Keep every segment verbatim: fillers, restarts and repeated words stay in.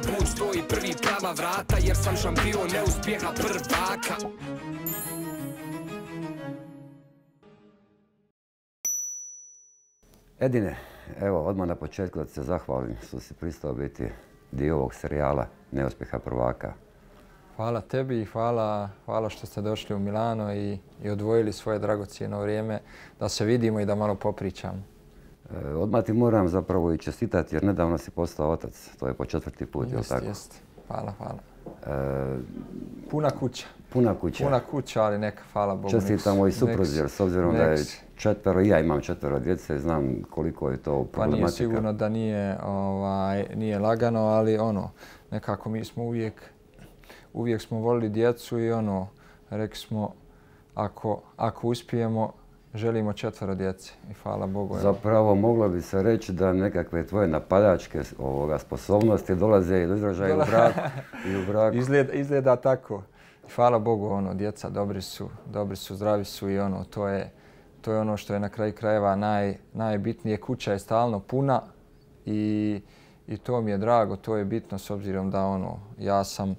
prvi put stoji prvi prava vrata, jer sam šampion neuspjeha prvaka. Edine, evo, odmah na početku da se zahvalim što si pristao biti dio ovog serijala Neuspjeha prvaka. Hvala tebi i hvala, hvala što ste došli u Milano i, i odvojili svoje dragocijeno vrijeme da se vidimo i da malo popričamo. E, odmah ti moram zapravo i čestitati jer nedavno si postao otac. To je po četvrti put, je li tako? Jeste, hvala, hvala. E, Puna kuća. Puna kuća. Puna kuća, ali neka, hvala Bogu. Čestitamo i supruzi, jer s obzirom da je četvero, i ja imam četvero djece, znam koliko je to problematika. Pa nije sigurno da nije, ovaj, nije lagano, ali ono, nekako mi smo uvijek, uvijek smo volili djecu i ono, rekli smo, ako, ako uspijemo, želimo četvero djece i hvala Bogu. Zapravo moglo bi se reći da nekakve tvoje napadačke ovoga, sposobnosti dolaze do izražaja u braku. I u braku. Izgleda, izgleda tako. Hvala Bogu, ono, djeca dobri su, dobri su, zdravi su i ono, to je, to je ono što je na kraju krajeva naj, najbitnije. Kuća je stalno puna i, i to mi je drago, to je bitno s obzirom da ono, ja sam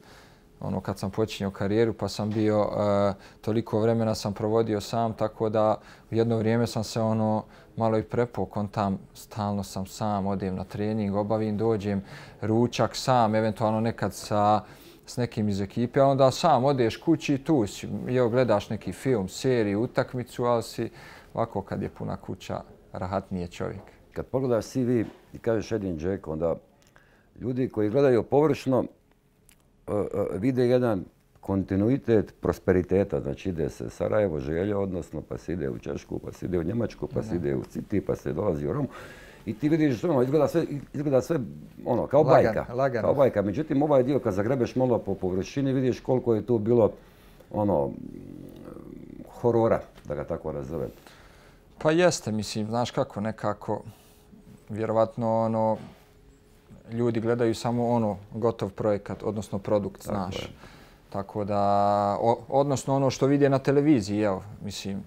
ono kad sam počinjao karijeru pa sam bio uh, toliko vremena sam provodio sam, tako da u jedno vrijeme sam se ono malo i prepao kontam, stalno sam sam, odem na trening, obavim, dođem, ručak sam, eventualno nekad sa s nekim iz ekipe, a onda sam odeš kući i tu si, evo gledaš neki film, seriju, utakmicu, ali si ovako kad je puna kuća, rahatnije čovjek. Kad pogledaš C V i kažeš Edin Džeko, onda ljudi koji gledaju površno uh, uh, vide jedan kontinuitet prosperiteta. Znači ide se Sarajevo, Želja, odnosno pa se ide u Češku, pa se ide u Njemačku, pa se ide u City, pa se dolazi u Romu. I ti vidiš, ono, izgleda sve, izgleda sve ono, kao Lagan, bajka. lagano. Kao bajka. Međutim, ovaj dio kad zagrebeš malo po površini, vidiš koliko je tu bilo ono, horora, da ga tako nazovem. Pa jeste, mislim, znaš kako, nekako, vjerovatno, ono, ljudi gledaju samo ono, gotov projekat, odnosno produkt, Tako znaš. je. Tako da, o, odnosno ono što vide na televiziji, evo, mislim,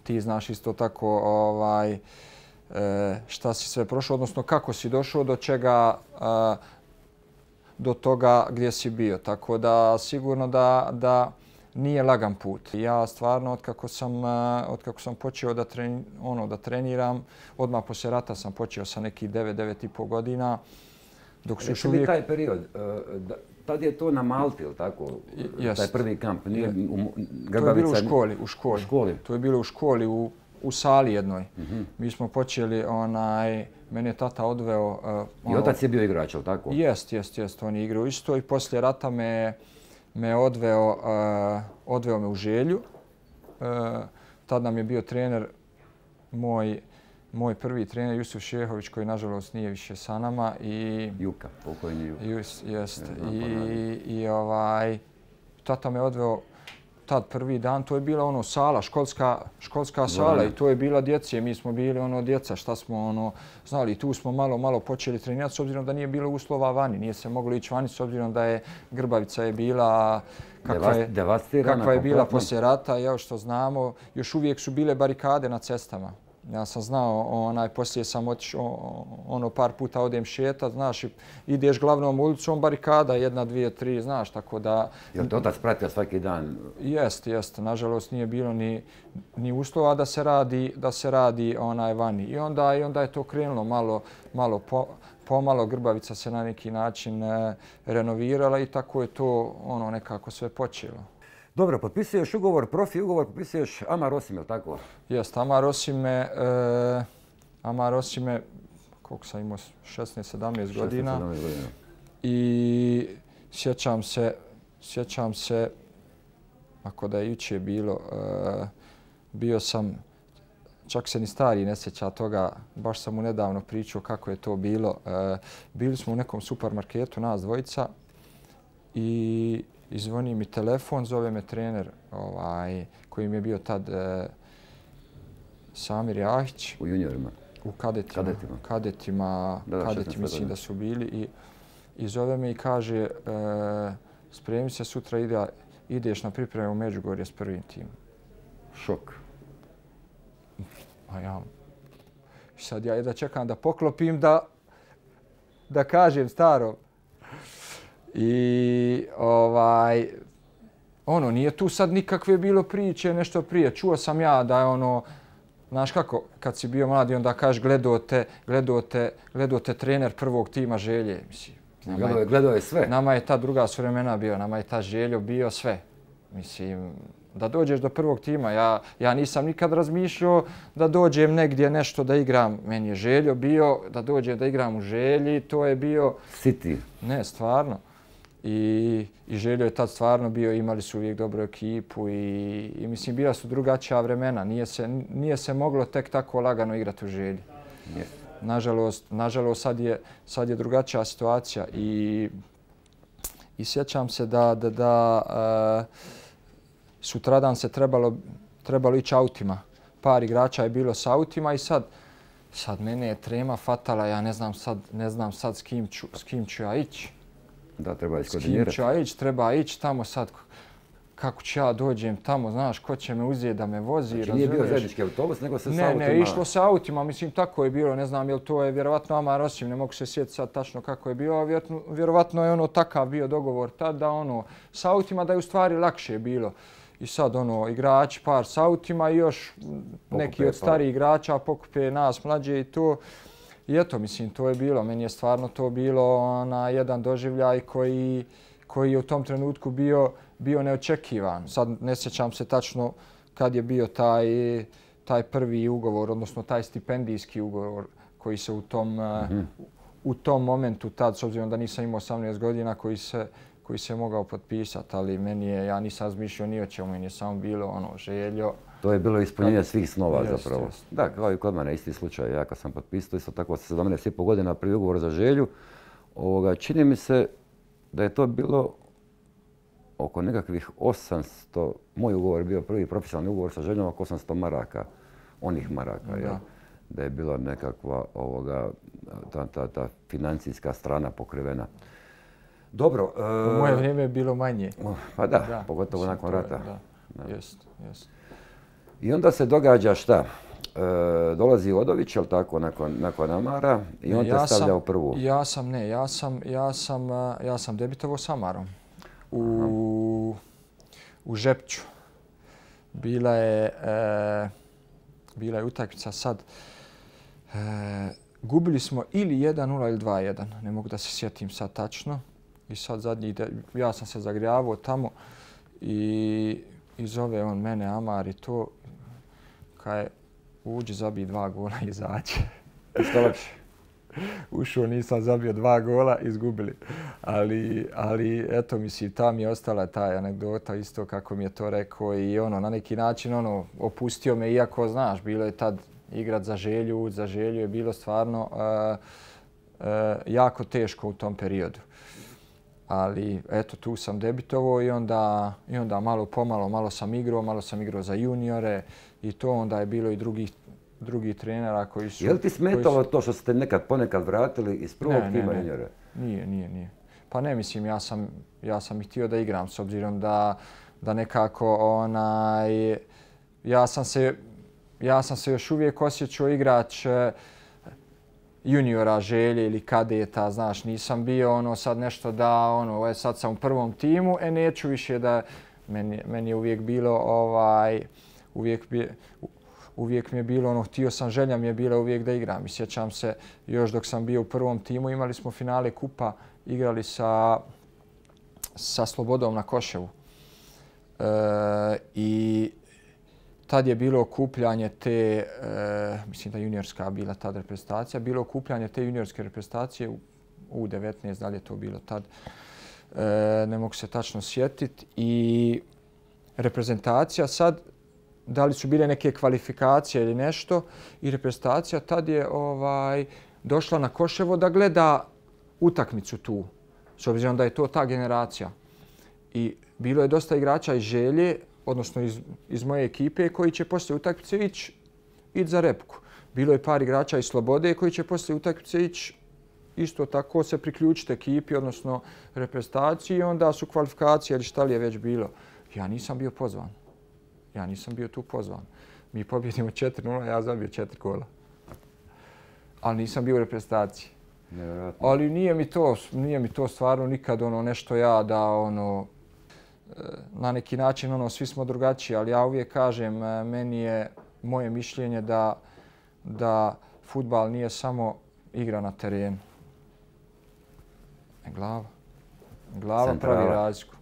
ti znaš isto tako, ovaj, šta si sve prošao, odnosno kako si došao do čega, do toga gdje si bio. Tako da sigurno da, da nije lagan put. Ja stvarno, otkako sam, otkako sam počeo da, tren, ono, da treniram, odmah poslije rata sam počeo sa nekih devet, devet i pol godina. Dok su Reci uvijek... mi taj period, tad je to na Malti, ili tako? Jest. Taj prvi kamp, nije u To je bilo u školi, u školi. U školi? To je bilo u školi, u u sali jednoj. Mm-hmm. Mi smo počeli, onaj, mene je tata odveo... Uh, I ono, otac je bio igrač, ali tako? Jest, jest, jest. On je igrao isto i poslije rata me, me odveo, uh, odveo me u Želju. Uh, tad nam je bio trener, moj, moj prvi trener Jusuf Šehović, koji nažalost nije više sa nama. I, Juka, pokojni Juka. Just, jest. I, i ovaj, tata me odveo tad prvi dan, to je bila ono sala, školska, školska sala i to je bila djece. Mi smo bili ono djeca, šta smo ono znali. Tu smo malo, malo počeli trenirati s obzirom da nije bilo uslova vani. Nije se moglo ići vani s obzirom da je Grbavica je bila kakva je, kakva je bila poslije rata. Evo što znamo, još uvijek su bile barikade na cestama. Ja sam znao, onaj, poslije sam otišao, ono, par puta odem šetat, znaš, ideš glavnom ulicom, barikada, jedna, dvije, tri, znaš, tako da... Jel te otac pratio svaki dan? Jest, jest. Nažalost, nije bilo ni, ni uslova da se radi, da se radi onaj vani. I onda, i onda je to krenulo malo, malo po, pomalo. Grbavica se na neki način e, renovirala i tako je to ono nekako sve počelo. Dobro, potpisuješ ugovor, profi ugovor, potpisuješ Amar Osim, je li tako? Jest, Amar Osime, e, Amar Osime, koliko sam imao, šesnaest sedamnaest godina. godina. I sjećam se, sjećam se, ako da je jučer bilo, e, bio sam, čak se ni stari ne sjeća toga, baš sam mu nedavno pričao kako je to bilo. E, bili smo u nekom supermarketu, nas dvojica, i I zvoni mi telefon, zove me trener ovaj, koji mi je bio tad e, Samir Jahić. U juniorima? U kadetima. Kadetima. Kadetima, da, da, kadeti mislim da su bili. I, i zove me i kaže e, spremi se, sutra ide, ideš na pripremu u Međugorje s prvim timom. Šok. A ja, sad ja jedva čekam da poklopim da, da kažem staro. I ovaj, ono, nije tu sad nikakve bilo priče, nešto prije. Čuo sam ja da je ono, znaš kako, kad si bio mladi, onda kažeš gledao te, gledao te, gledao te trener prvog tima Želje. Mislim, gledao, je, gledao je sve. Nama je ta druga su vremena bio, nama je ta Željo bio sve. Mislim, da dođeš do prvog tima, ja, ja nisam nikad razmišljao da dođem negdje nešto da igram. Meni je Željo bio da dođem da igram u Želji, to je bio... City. Ne, stvarno. I, i Željo je tad stvarno bio, imali su uvijek dobru ekipu i, i mislim, bila su drugačija vremena. Nije se, nije se moglo tek tako lagano igrati u Želji. Yes. Nažalost, nažalost sad, je, sad je drugačija situacija i, i sjećam se da, da, da uh, sutradan se trebalo, trebalo ići autima. Par igrača je bilo s autima i sad, sad mene je trema fatala, ja ne znam sad, ne znam sad s kim ću, s kim ću ja ići. Da, treba S iskoordinirati. kim ću ja ići, treba ići tamo sad. Kako ću ja dođem tamo, znaš, ko će me uzeti da me vozi, znači, razumiješ? Nije bio zajednički autobus, nego se s ne, autima... Ne, ne, išlo se autima, mislim, tako je bilo, ne znam, jel to je vjerovatno Amar Osim, ne mogu se sjetiti sad tačno kako je bilo, vjerovatno, vjerovatno je ono takav bio dogovor tad da ono, s autima da je u stvari lakše bilo. I sad ono, igrači par s autima i još pokupe, neki od starijih igrača pokupe nas mlađe i to. I eto, mislim, to je bilo, meni je stvarno to bilo ona, jedan doživljaj koji, koji je u tom trenutku bio, bio neočekivan. Sad ne sjećam se tačno kad je bio taj, taj prvi ugovor, odnosno taj stipendijski ugovor koji se u tom, mm-hmm. u tom momentu tad, s obzirom da nisam imao osamnaest godina, koji se, koji se mogao potpisati, ali meni je, ja nisam razmišljao ni o čemu, meni je samo bilo ono, Željo. To je bilo ispunjenje kad... svih snova jest, zapravo. Jest. Da, kao i kod mene, isti slučaj. Ja kad sam potpisao isto tako sa sedamnaest i pol godina prvi ugovor za Želju, ovoga, čini mi se da je to bilo oko nekakvih osamsto, moj ugovor je bio prvi profesionalni ugovor sa Željom oko osamsto maraka, onih maraka, da. Jel? Da je bila nekakva ovoga, ta, ta, ta financijska strana pokrivena. Dobro. U moje vrijeme je bilo manje. Pa da, da pogotovo nakon rata. Da, da. Jest, jest. I onda se događa šta? E, dolazi Odović, jel tako, nakon, nakon Amara i on ja te stavlja sam, u prvu. Ja sam, ne, ja sam, ja sam, ja sam debitovao s Amarom u, u Žepću. Bila je, e, bila je utakmica sad. E, gubili smo ili jedan nula ili dva jedan, ne mogu da se sjetim sad tačno. I sad zadnji, ja sam se zagrijavao tamo i, i zove on mene Amar i to, kaj uđi, zabij dva gola i izađe. Što lakše? Ušao, nisam zabio dva gola, izgubili. Ali, ali eto, mislim, ta mi je ostala ta anegdota isto kako mi je to rekao i ono, na neki način ono, opustio me, iako znaš, bilo je tad igrat za Želju, za Želju je bilo stvarno uh, uh, jako teško u tom periodu. Ali eto, tu sam debitovao i onda, i onda malo pomalo, malo sam igrao, malo sam igrao za juniore i to onda je bilo i drugih drugi trenera koji su... Je li ti smetalo su... to što ste nekad ponekad vratili iz prvog ne, tima ne, juniore? Nije, nije, nije. Pa ne, mislim, ja sam, ja sam i htio da igram s obzirom da, da nekako onaj... Ja sam se, ja sam se još uvijek osjećao igrač juniora Želje ili kadeta, znaš, nisam bio ono sad nešto da, ono, e, sad sam u prvom timu, e neću više da... Meni, meni je uvijek bilo ovaj... Uvijek bi, uvijek mi je bilo ono, htio sam, želja mi je bila uvijek da igram. I sjećam se, još dok sam bio u prvom timu, imali smo finale kupa, igrali sa, sa Slobodom na Koševu. E, I tad je bilo okupljanje te, e, mislim da juniorska bila tad reprezentacija, bilo okupljanje te juniorske reprezentacije u U devetnaest, da li je to bilo tad, e, ne mogu se tačno sjetiti. I reprezentacija sad, da li su bile neke kvalifikacije ili nešto, i reprezentacija tad je ovaj, došla na Koševo da gleda utakmicu tu, s obzirom da je to ta generacija. I bilo je dosta igrača iz Želje, odnosno iz, iz moje ekipe, koji će poslije utakmice ići ići za repku. Bilo je par igrača iz Slobode koji će poslije utakmice ići isto tako se priključiti ekipi, odnosno reprezentaciji, i onda su kvalifikacije ili šta li je već bilo. Ja nisam bio pozvan. Ja nisam bio tu pozvan. Mi pobjedimo četiri nula, ja zabio četiri gola. Ali nisam bio u reprezentaciji. Nevjerojatno. Ali nije mi to, nije mi to stvarno nikad ono nešto ja da ono na neki način ono svi smo drugačiji, ali ja uvijek kažem meni je moje mišljenje da da fudbal nije samo igra na terenu. Glava. Glava Centrala. pravi razliku.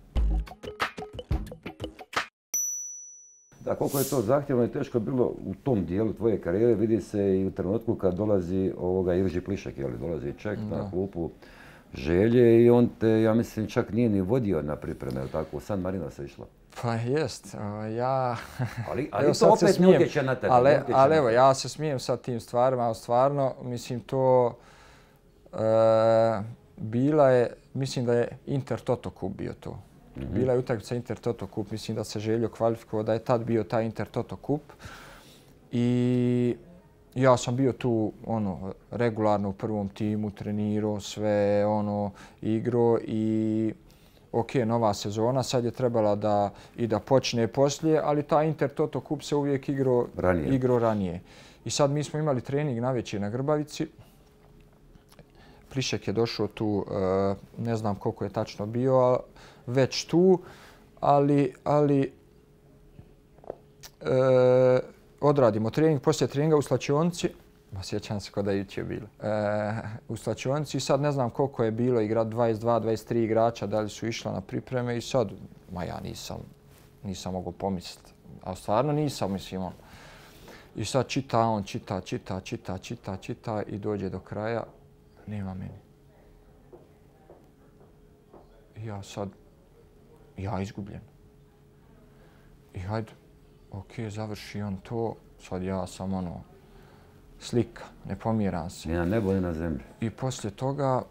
Da, koliko je to zahtjevno i teško bilo u tom dijelu tvoje karijere, vidi se i u trenutku kad dolazi ovoga Irži Plišek, jel, dolazi Ček da. na klupu Želje i on te, ja mislim, čak nije ni vodio na pripreme, jel tako, u San Marino se išlo. Pa jest, ja... Ali, ali evo, to opet ne utječe na tebe. Ali, ali evo, ja se smijem sa tim stvarima, ali stvarno, mislim, to... E, bila je, mislim da je Inter Toto Kup bio to. Mm-hmm. Bila je utakmica Inter Toto Kup, mislim da se Željo kvalifikovao, da je tad bio taj Inter Toto Kup. I ja sam bio tu ono regularno u prvom timu, trenirao sve, ono igrao i ok, nova sezona, sad je trebala da i da počne poslije, ali taj Inter Toto Kup se uvijek igrao ranije. Igrao ranije. I sad mi smo imali trening navečer na Grbavici. Plišek je došao tu, ne znam koliko je tačno bio, već tu, ali, ali e, odradimo trening, poslije treninga u slačionici, sjećam se kod da je jučer bilo, e, u slačionici i sad ne znam koliko je bilo igra dvadeset dva dvadeset tri igrača, da li su išla na pripreme i sad, ma ja nisam, nisam mogao pomisliti, a stvarno nisam, mislim on. I sad čita on, čita, čita, čita, čita, čita i dođe do kraja. Nema meni. Ja sad, ja izgubljen. I hajde, ok, završi on to, sad ja sam ono, slika, ne pomiram se. Ni na nebo, ni na zemlji. I poslije toga,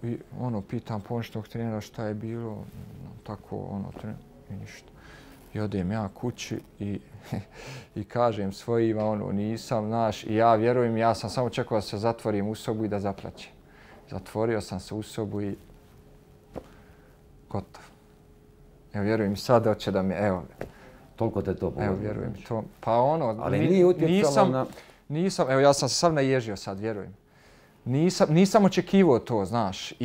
ono, pitam pomoćnog trenera šta je bilo, tako, ono, trener, i ništa. I odem ja kući i, i kažem svojima, ono, nisam, znaš, i ja vjerujem, ja sam samo čekao da se zatvorim u sobu i da zaplaćem. Zatvorio sam se u sobu i gotov. Evo, vjerujem sad hoće da mi, evo. Toliko te to pogodilo. Evo, vjerujem to. Pa ono, ali nije utjecalo nisam, na... Nisam, evo, ja sam se sam naježio sad, vjerujem. Nisam, nisam očekivao to, znaš. I,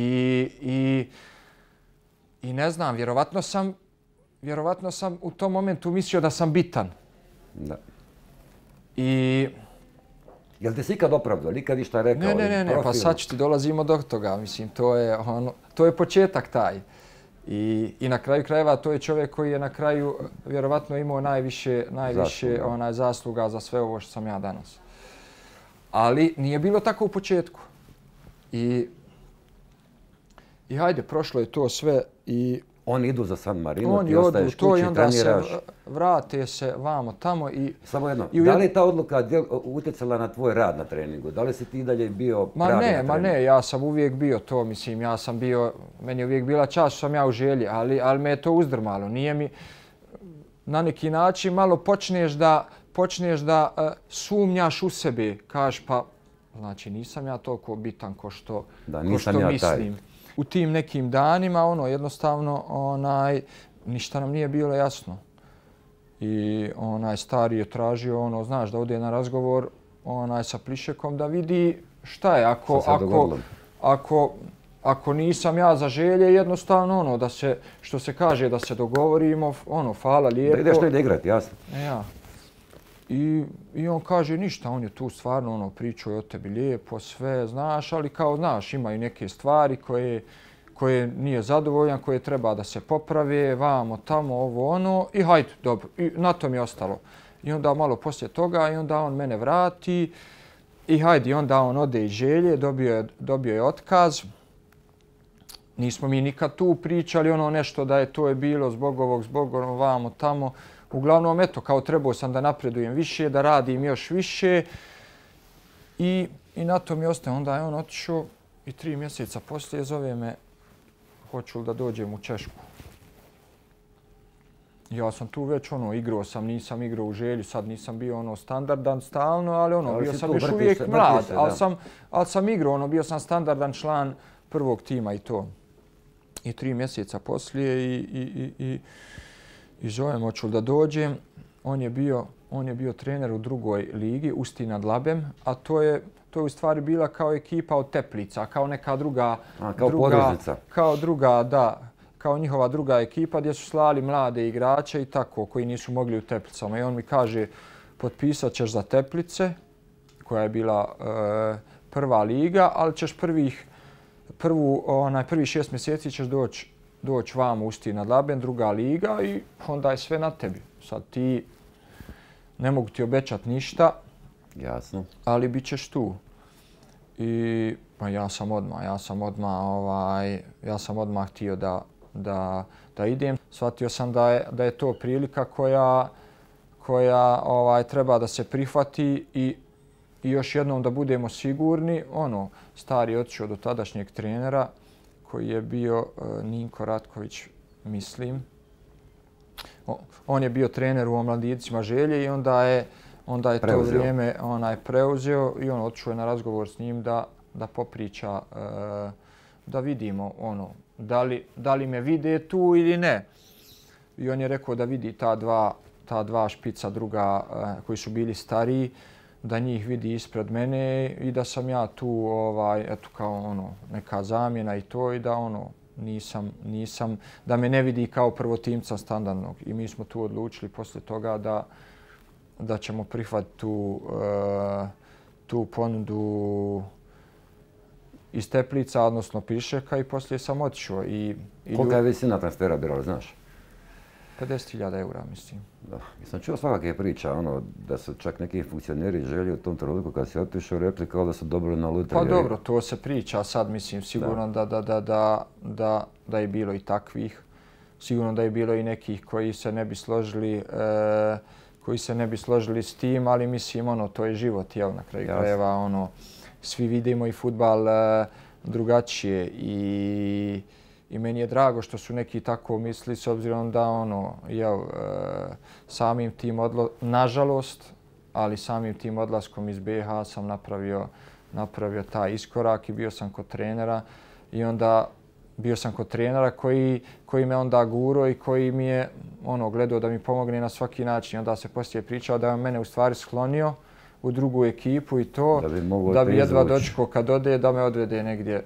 i, i ne znam, vjerovatno sam, vjerovatno sam u tom momentu mislio da sam bitan. Da. I... Jel te si ikad opravdao, nikad išta rekao? Ne, ne, ne, ne, pa sad ću ti dolazimo do toga. Mislim, to je, ono, to je početak taj. I, I na kraju krajeva to je čovjek koji je na kraju vjerovatno imao najviše, najviše zasluga. Onaj, zasluga za sve ovo što sam ja danas. Ali nije bilo tako u početku. I, i hajde, prošlo je to sve i... Oni idu za San Marino, oni ti ostaješ to kući, i onda treniraš. se vrate se vamo tamo i... Samo jedno, i u... da li je ta odluka djel, utjecala na tvoj rad na treningu? Da li si ti dalje bio ma pravi ne, na treningu? Ma ne, ja sam uvijek bio to, mislim, ja sam bio, meni je uvijek bila čast što sam ja u Želji, ali, ali me je to uzdrmalo. Nije mi, na neki način malo počneš da, počneš da uh, sumnjaš u sebe, kažeš pa, znači nisam ja toliko bitan ko što, da, ko što ja mislim. Taj. U tim nekim danima, ono, jednostavno, onaj, ništa nam nije bilo jasno. I onaj stari je tražio, ono, znaš, da ode na razgovor onaj sa Plišekom da vidi šta je. Ako, ako, ako, ako nisam ja za Želje, jednostavno, ono, da se, što se kaže, da se dogovorimo, ono, hvala lijepo. Da ideš negdje igrati, jasno. E, ja. I, I on kaže ništa, on je tu stvarno ono, pričao o tebi lijepo, sve, znaš, ali kao, znaš, imaju neke stvari koje, koje nije zadovoljan, koje treba da se poprave, vamo, tamo, ovo, ono, i hajde, dobro, i na tom je ostalo. I onda malo poslije toga, i onda on mene vrati, i hajde, i onda on ode iz Želje, dobio je, dobio je otkaz. Nismo mi nikad tu pričali, ono nešto da je to je bilo zbog ovog, zbog ono, vamo, tamo. Uglavnom, eto, kao trebao sam da napredujem više, da radim još više i, i na to mi ostaje. Onda je on otišao i tri mjeseca poslije zove me, hoću li da dođem u Češku. Ja sam tu već ono, igrao sam, nisam igrao u Želji, sad nisam bio ono standardan stalno, ali ono, ali bio sam još uvijek se, mlad, se, ali, sam, ali sam igrao, ono, bio sam standardan član prvog tima i to. I tri mjeseca poslije i, i, i, i I zovem, hoću da dođem. On je bio, on je bio trener u drugoj ligi, Usti nad Labem, a to je, to je u stvari bila kao ekipa od Teplica, kao neka druga... A, kao druga, podružnica. Kao druga, da, kao njihova druga ekipa gdje su slali mlade igrače i tako, koji nisu mogli u Teplicama. I on mi kaže, potpisat ćeš za Teplice, koja je bila e, prva liga, ali ćeš prvih, prvu, onaj, prvi šest mjeseci ćeš doći doć vam u Ustina Dlaben, druga liga i onda je sve na tebi. Sad ti, ne mogu ti obećati ništa, jasno, ali bit ćeš tu. I pa ja sam odmah, ja sam odmah, ovaj, ja sam odmah htio da, da, da idem. Shvatio sam da je, da je to prilika koja, koja ovaj, treba da se prihvati i, i još jednom da budemo sigurni. Ono, stari je otišao do tadašnjeg trenera koji je bio uh, Ninko Ratković, mislim. O, on je bio trener u Omladincima Želje i onda je, onda je to vrijeme onaj preuzeo i on otišao je na razgovor s njim da, da popriča, uh, da vidimo ono, da li, da li me vide tu ili ne. I on je rekao da vidi ta dva, ta dva špica druga uh, koji su bili stariji, da njih vidi ispred mene i da sam ja tu ovaj eto kao ono neka zamjena i to i da ono nisam nisam da me ne vidi kao prvotimca standardnog i mi smo tu odlučili poslije toga da da ćemo prihvatiti tu uh, tu ponudu iz Teplica, odnosno Pišeka i poslije sam otišao i, i kolika je visina transfera bila, znaš? pedeset hiljada eura, mislim. Da. Ja sam čuo svakakve priča, ono, da su čak neki funkcioneri želi u tom trenutku kad si otišao rekli kao da su dobili na lutriji. Pa dobro, to se priča sad, mislim, sigurno da, da, da, da, da, da je bilo i takvih. Sigurno da je bilo i nekih koji se ne bi složili, e, koji se ne bi složili s tim, ali mislim, ono, to je život, jel, na kraju krajeva, ono, svi vidimo i fudbal e, drugačije i I meni je drago što su neki tako misli s obzirom da ono, jel, samim tim odlo... nažalost, ali samim tim odlaskom iz B H sam napravio, napravio taj iskorak i bio sam kod trenera i onda bio sam kod trenera koji, koji me onda guro i koji mi je ono, gledao da mi pomogne na svaki način. Onda se poslije pričao da je mene u stvari sklonio u drugu ekipu i to da bi, da bi jedva dočekao kad ode da me odvede negdje,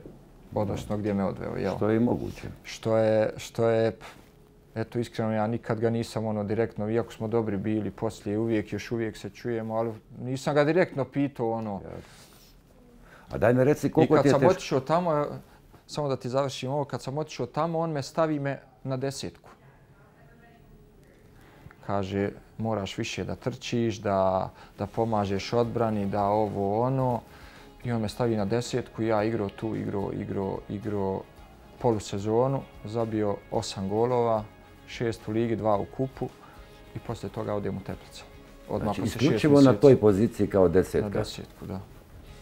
odnosno gdje me odveo. Jel? Što je i moguće. Što je, što je, eto iskreno ja nikad ga nisam ono direktno, iako smo dobri bili poslije, uvijek, još uvijek se čujemo, ali nisam ga direktno pitao ono. A daj mi reci koliko ti je teško. I kad sam otišao tamo, samo da ti završim ovo, kad sam otišao tamo, on me stavi me na desetku. Kaže, moraš više da trčiš, da, da pomažeš odbrani, da ovo ono. I on me stavi na desetku, ja igrao tu, igrao, igrao, igrao polusezonu, zabio osam golova, šest u ligi, dva u kupu i poslije toga odem u Teplice. Odmah znači, isključivo na toj poziciji kao desetka. Na desetku, da.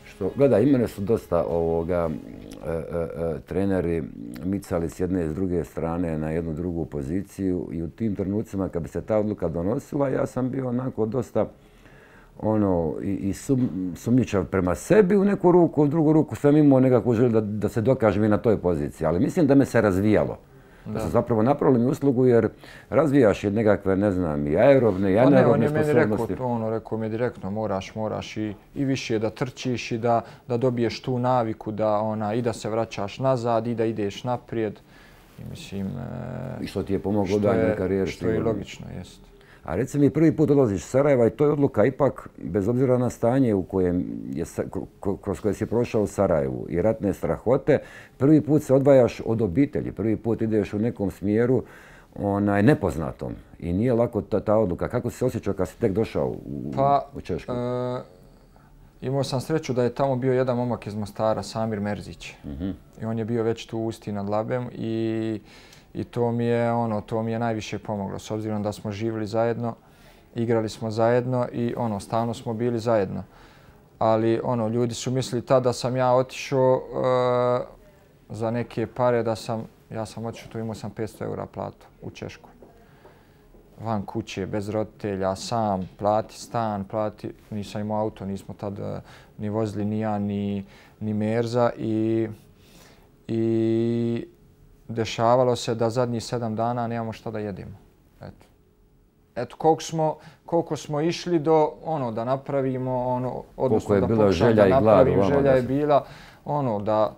Što, gledaj, imene su dosta ovoga, e, e, e, treneri micali s jedne i s druge strane na jednu drugu poziciju i u tim trenucima kad bi se ta odluka donosila, ja sam bio onako dosta ono, i, i sum, sumnjičav prema sebi u neku ruku, u drugu ruku sam imao nekakvu želju da, da se dokažem i na toj poziciji. Ali mislim da me se razvijalo. Da, da su zapravo napravili mi uslugu jer razvijaš i nekakve, ne znam, i aerobne i anaerobne sposobnosti. On je meni rekao, ono, rekao mi je direktno, moraš, moraš i, i više da trčiš i da, da dobiješ tu naviku da, ona, i da se vraćaš nazad i da ideš naprijed. I mislim... E, I što ti je pomoglo u daljnjoj karijeri. Što je logično, jest. A reci mi, prvi put odlaziš iz Sarajeva i to je odluka ipak, bez obzira na stanje u kojem je, kroz koje si prošao u Sarajevu i ratne strahote, prvi put se odvajaš od obitelji, prvi put ideš u nekom smjeru onaj, nepoznatom i nije lako ta, ta odluka. Kako si se osjećao kad si tek došao u, pa, u Češku? E, imao sam sreću da je tamo bio jedan momak iz Mostara, Samir Merzić. Mm-hmm. I on je bio već tu u Usti nad Labem i I to mi je ono, to mi je najviše pomoglo s obzirom da smo živjeli zajedno, igrali smo zajedno i ono, stalno smo bili zajedno. Ali ono, ljudi su mislili tada da sam ja otišao uh, za neke pare da sam, ja sam otišao, tu imao sam petsto eura platu u Češku. Van kuće, bez roditelja, sam, plati stan, plati, nisam imao auto, nismo tad uh, ni vozili ni ja, ni, ni Merza i, i dešavalo se da zadnjih sedam dana nemamo šta da jedemo. Eto. eto, koliko smo, koliko smo išli do ono da napravimo, ono, odnosno je da bila pokušam želja da i glad napravim, u vama, želja da je se- bila ono da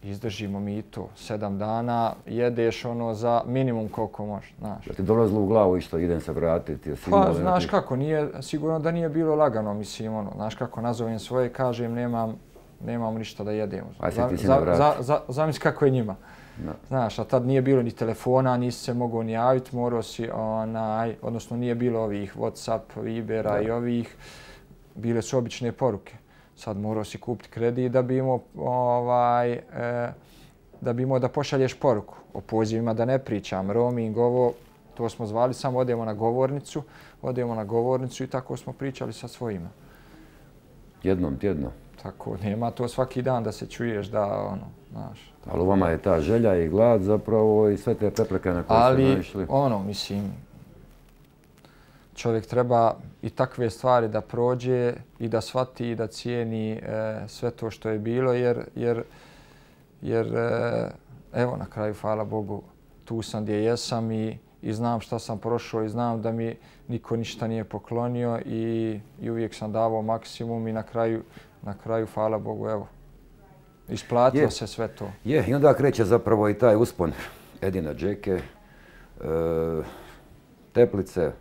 izdržimo mi to sedam dana, jedeš ono za minimum koliko može, znaš. Da ti dolazilo u glavu isto idem se vratiti? jesi imao Pa, nekih- znaš kako, nije, sigurno da nije bilo lagano, mislim, ono, znaš kako, nazovem svoje, kažem, nemam, nemam ništa da jedemo. Aj se ti si za, ne vrati. za, za, zamisli kako je njima. Da. Znaš, a tad nije bilo ni telefona, nisi se mogao ni javiti, morao si, onaj, odnosno nije bilo ovih WhatsApp, Vibera Da. i ovih, bile su obične poruke. Sad morao si kupiti kredit da bi imao, ovaj, e, da bi imao da pošalješ poruku. O pozivima da ne pričam, roaming, ovo, to smo zvali, samo odemo na govornicu, odemo na govornicu i tako smo pričali sa svojima. Jednom tjedno. Tako, nema to svaki dan da se čuješ da, ono, znaš. Ali u vama je ta želja i glad zapravo i sve te prepreke na koje ste Ali, naišli. ono, mislim, čovjek treba i takve stvari da prođe i da shvati i da cijeni e, sve to što je bilo, jer, jer, jer e, evo, na kraju, hvala Bogu, tu sam gdje jesam i, i znam šta sam prošao i znam da mi niko ništa nije poklonio i, i uvijek sam davao maksimum i na kraju, na kraju, hvala Bogu, evo, isplatilo Je. se sve to. Je, i onda kreće zapravo i taj uspon Edina Džeke, e, Teplice,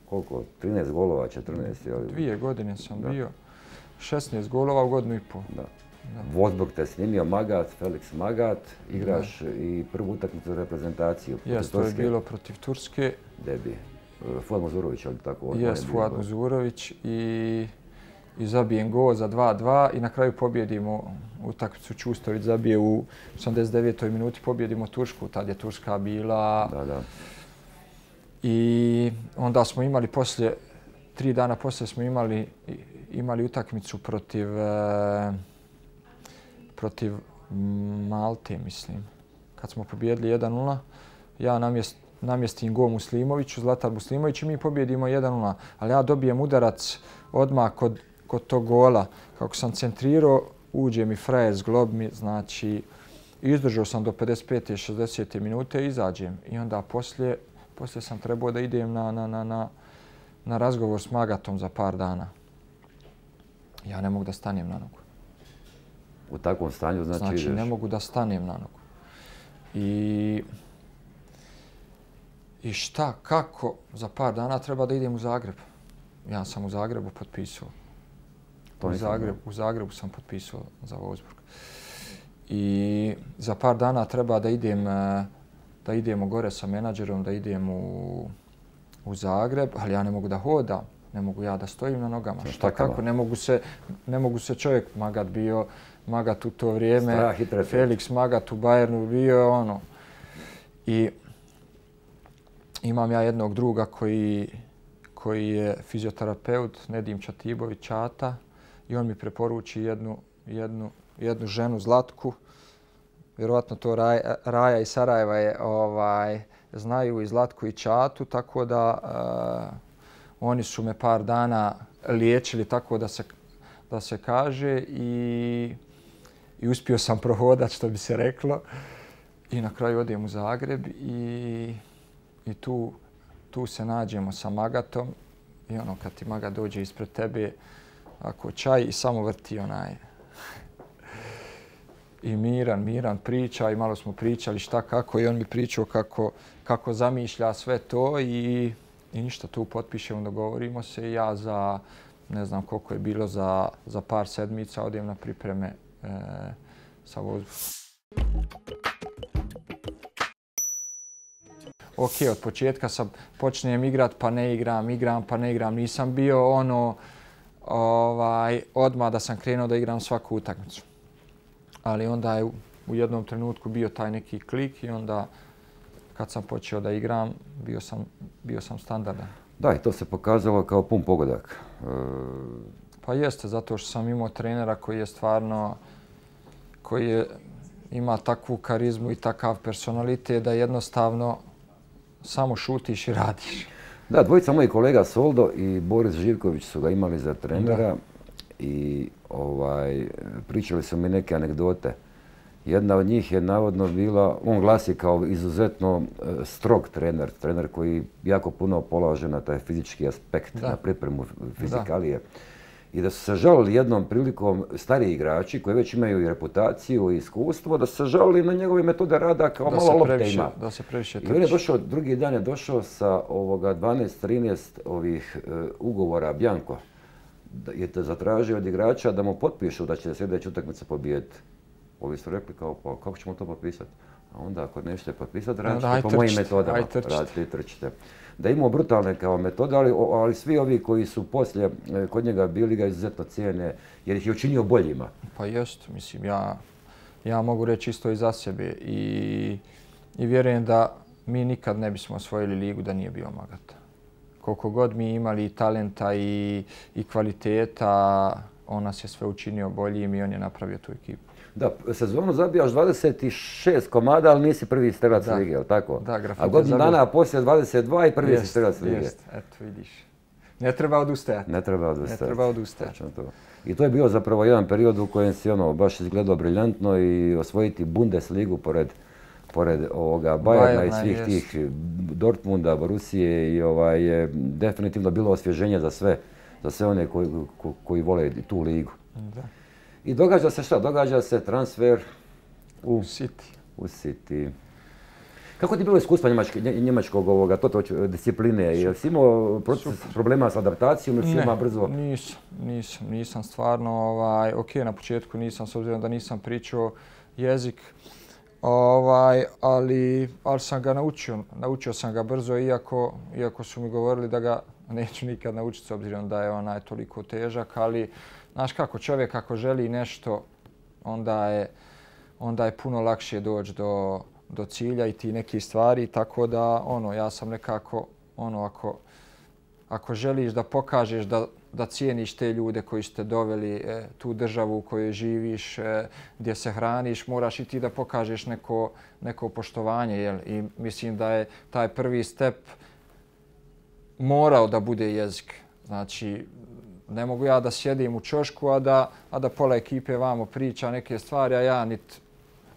koliko, trinaest golova, četrnaest, je li? Dvije godine sam Da. bio, šesnaest golova u godinu i pol. Da. Wolfsburg te snimio, Magat, Felix Magat, igraš i prvu utakmicu za reprezentaciju. protiv Jes, to je Turske. bilo protiv Turske. Debi. E, Fuad Muzurović, ali tako? on- on je Jes, bio Fuad gol. Muzurović i, i zabijem gol za dva dva i na kraju pobjedimo utakmicu. Čustović zabije u osamdeset devetoj minuti, pobjedimo Tursku. Tad je Turska bila Da, da. i onda smo imali poslije, tri dana poslije smo imali, imali utakmicu protiv, e, protiv Malte, mislim. Kad smo pobjedili jedan nula, ja namjest, namjestim gol Muslimoviću, Zlatar Muslimović i mi pobjedimo jedan nula. Ali ja dobijem udarac odmah kod, kod tog gola. Kako sam centrirao, uđe mi frajer s glob mi, znači izdržao sam do pedeset pete šezdesete minute i izađem. I onda poslije, poslije sam trebao da idem na, na, na, na, na razgovor s Magatom za par dana. Ja ne mogu da stanem na nogu. U takvom stanju znači, Znači, ideš. ne mogu da stanem na nogu. I, I šta, kako, za par dana treba da idem u Zagreb. Ja sam u Zagrebu potpisao. To U, nisam Zagreb, u Zagrebu sam potpisao za Wolfsburg. I za par dana treba da idem, eh, da idemo gore sa menadžerom, da idem u, u Zagreb, ali ja ne mogu da hodam. Ne mogu ja da stojim na nogama. Sa Šta štakama. kako, ne mogu se, ne mogu se čovjek, Magat bio, Magat u to vrijeme, Strah i trepet. Felix Magat u Bayernu bio ono. I imam ja jednog druga koji, koji je fizioterapeut, Nedim Čatibović Čata, i on mi preporuči jednu, jednu, jednu ženu Zlatku. Vjerovatno to Raja, Raja i Sarajeva je, ovaj, znaju i Zlatku i Čatu, tako da uh, oni su me par dana liječili, tako da se, da se kaže, i, i uspio sam prohodat, što bi se reklo. I na kraju odem u Zagreb i, i tu, tu se nađemo sa Magatom i ono kad ti Magat dođe ispred tebe, ako čaj i samo vrti onaj. I miran, miran priča i malo smo pričali šta kako i on mi pričao kako, kako zamišlja sve to i, i ništa tu potpišemo, dogovorimo se i ja za ne znam koliko je bilo za, za par sedmica odem na pripreme e, sa Wolfsburgom. Ok, od početka sam počnem igrat pa ne igram, igram pa ne igram. Nisam bio ono ovaj, odmah da sam krenuo da igram svaku utakmicu. Ali onda je u, u jednom trenutku bio taj neki klik i onda kad sam počeo da igram bio sam, bio sam standardan. Da, i to se pokazalo kao pun pogodak. E, Pa jeste, zato što sam imao trenera koji je stvarno, koji je, ima takvu karizmu i takav personalitet da jednostavno samo šutiš i radiš. Da, dvojica mojih kolega Soldo i Boris Živković su ga imali za trenera. Da. I ovaj, pričali su mi neke anegdote Jedna od njih je navodno bila, on glasi kao izuzetno strog trener, trener koji jako puno polaže na taj fizički aspekt, da. na pripremu fizikalije. Da. I da su se žalili jednom prilikom stariji igrači koji već imaju i reputaciju i iskustvo, da su se žalili na njegove metode rada kao da malo lopte ima. Da se previše trči. I on je došao, drugi dan je došao sa ovoga dvanaest trinaest ovih uh, ugovora Bjanko. Da je te zatražio od igrača da mu potpišu da će sljedeću utakmicu pobijediti. Ovi su rekli kao, pa kako ćemo to potpisati? A onda ako nešto je potpisati, radite po mojim metodama. Radite i trčite. Da imamo brutalne kao metode, ali, ali svi ovi koji su poslije kod njega bili ga izuzetno cijene, jer ih je učinio boljima. Pa jest, mislim, ja, ja mogu reći isto i za sebe i, i vjerujem da mi nikad ne bismo osvojili ligu da nije bio Magata. Koliko god mi imali i talenta i, i kvaliteta, on nas je sve učinio boljim i on je napravio tu ekipu. Da, sezonu zabijaš dvadeset šest komada, ali nisi prvi strelac lige, je li tako? Da, grafit. A godinu dana poslije dvadeset dva i prvi jest, si strelac lige. Jest, eto vidiš. Ne treba odustajati. Ne treba odustajati. Ne treba odustajati. To. I to je bio zapravo jedan period u kojem si ono baš izgledao briljantno i osvojiti Bundesligu pored pored ovoga Bayerna i svih jest. tih Dortmunda, Borusije i ovaj je definitivno bilo osvježenje za sve, za sve one koji, ko, koji vole tu ligu. Da. I događa se šta? Događa se transfer u City. U City. Kako ti bilo iskustvo njemačke, njemačkog ovoga, to, to discipline? Jel si imao proces, problema s adaptacijom ili si ima brzo? Ne, nisam, nisam, nisam stvarno, ovaj, ok, na početku nisam, s obzirom da nisam pričao jezik, ovaj, ali, ali sam ga naučio, naučio sam ga brzo, iako, iako su mi govorili da ga neću nikad naučiti, s obzirom da je onaj toliko težak, ali znaš kako, čovjek ako želi nešto, onda je, onda je puno lakše doći do, do cilja i ti nekih stvari, tako da ono, ja sam nekako, ono, ako, ako želiš da pokažeš da, da cijeniš te ljude koji ste doveli, e, tu državu u kojoj živiš, e, gdje se hraniš, moraš i ti da pokažeš neko, neko poštovanje, jel? I mislim da je taj prvi step morao da bude jezik. Znači, ne mogu ja da sjedim u ćošku, a da, a da pola ekipe vamo priča neke stvari, a ja nit,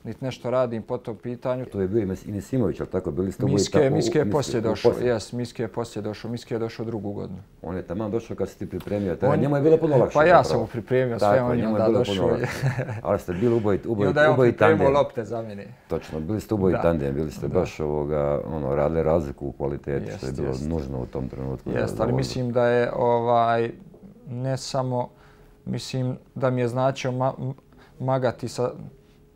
nit nešto radim po tom pitanju. To je bio i Nisimović, ali tako? Bili ste Miske, tako, Miske je poslije došao, jes, Miske je poslije došao, Miske je došao drugu godinu. On je taman došao kad si ti pripremio, tada njemu je bilo puno lakše. Pa ja sam mu pripremio sve, tako, on je onda došao. Ali ste bili uboji tandem. I onda je on pripremio lopte za mene. Točno, bili ste uboji tandem, bili ste da. baš ovoga, ono, radili razliku u kvaliteti, jest, što je bilo jest. nužno u tom trenutku. Jeste, ali mislim da je ovaj, ne samo, mislim da mi je značio ma, magati sa,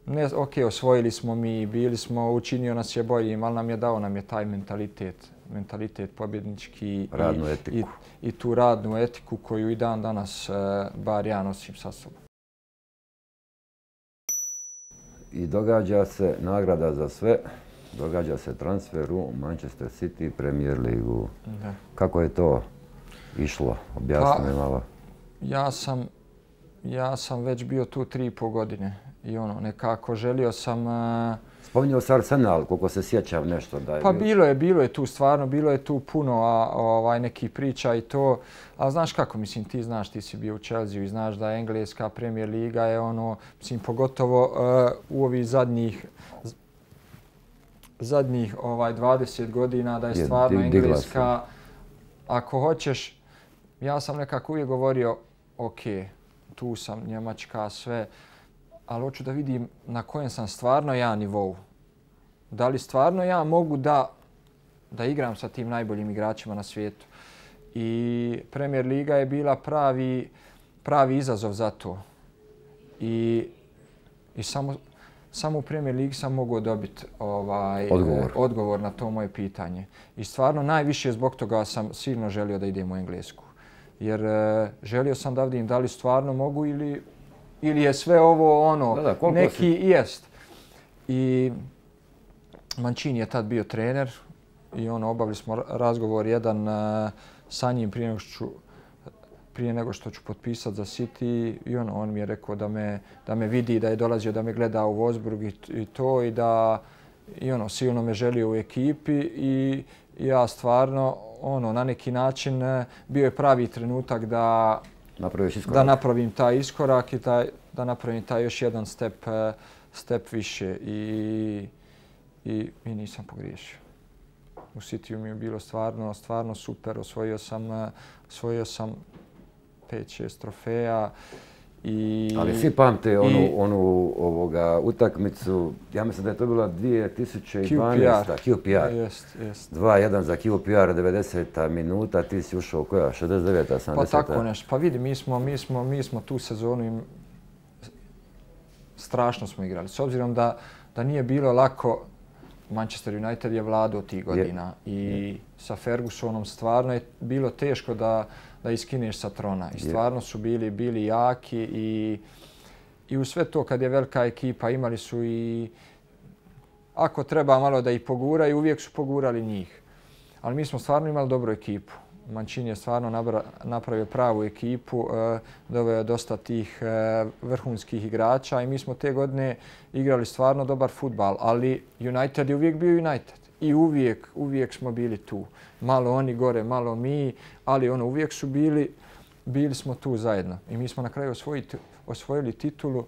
ne, ok, osvojili smo mi, bili smo, učinio nas je boljim, ali nam je dao nam je taj mentalitet, mentalitet pobjednički radnu i, etiku. I, i tu radnu etiku koju i dan danas, bar ja nosim sa sobom. I događa se nagrada za sve, događa se transfer u Manchester City Premier ligu. Da. Kako je to išlo? Objasni mi malo. Ja sam, ja sam već bio tu tri i pol godine i ono, nekako želio sam... Uh, Spominjao se Arsenal, koliko se sjećam nešto da je... Pa bilo je, bilo je tu stvarno, bilo je tu puno a, ovaj, nekih priča i to. Ali znaš kako, mislim, ti znaš, ti si bio u Chelsea i znaš da je Engleska Premier liga je ono, mislim, pogotovo uh, u ovih zadnjih zadnjih ovaj, dvadeset godina da je stvarno je, Engleska, ako hoćeš, ja sam nekako uvijek govorio, ok, tu sam, Njemačka, sve, ali hoću da vidim na kojem sam stvarno ja nivou. Da li stvarno ja mogu da, da igram sa tim najboljim igračima na svijetu. I Premier liga je bila pravi, pravi izazov za to. I, i samo, samo u Premier ligi sam mogao dobiti ovaj, odgovor. odgovor na to moje pitanje. I stvarno najviše zbog toga sam silno želio da idem u Englesku. Jer uh, želio sam da vidim da li stvarno mogu ili, ili je sve ovo ono, da, da, neki si... jest. I Mancini je tad bio trener i ono, obavili smo razgovor jedan uh, sa njim prije nego što ću, prije nego što ću potpisati za City i ono, on mi je rekao da me, da me vidi, da je dolazio da me gleda u Wolfsburg i, i to i da i ono, silno me želio u ekipi i ja stvarno ono, na neki način bio je pravi trenutak da, da napravim taj iskorak i taj, da napravim taj još jedan step, step više i, i, i nisam pogriješio. U Cityu mi je bilo stvarno, stvarno super. Osvojio sam, osvojio sam pet šest trofeja. I, ali svi pamte onu, i, onu ovoga, utakmicu, ja mislim da je to bila dvije tisuće dvanaesta. Q P R. Jest, jest. dva jedan za Q P R, devedeseta minuta, ti si ušao koja? šezdeset deveta, sedamdeseta? Pa tako nešto. Pa vidi, mi smo, mi smo, mi smo tu sezonu im strašno smo igrali. S obzirom da, da nije bilo lako, Manchester United je vladao tih godina je. i je. sa Fergusonom stvarno je bilo teško da da iskineš sa trona. I stvarno su bili, bili jaki i, i u sve to kad je velika ekipa imali su i ako treba malo da ih poguraju, uvijek su pogurali njih. Ali mi smo stvarno imali dobru ekipu. Mancini je stvarno nabra, napravio pravu ekipu, e, doveo je dosta tih e, vrhunskih igrača i mi smo te godine igrali stvarno dobar fudbal, ali United je uvijek bio United. I uvijek, uvijek smo bili tu. Malo oni gore, malo mi, ali ono, uvijek su bili, bili smo tu zajedno. I mi smo na kraju osvojiti, osvojili titulu.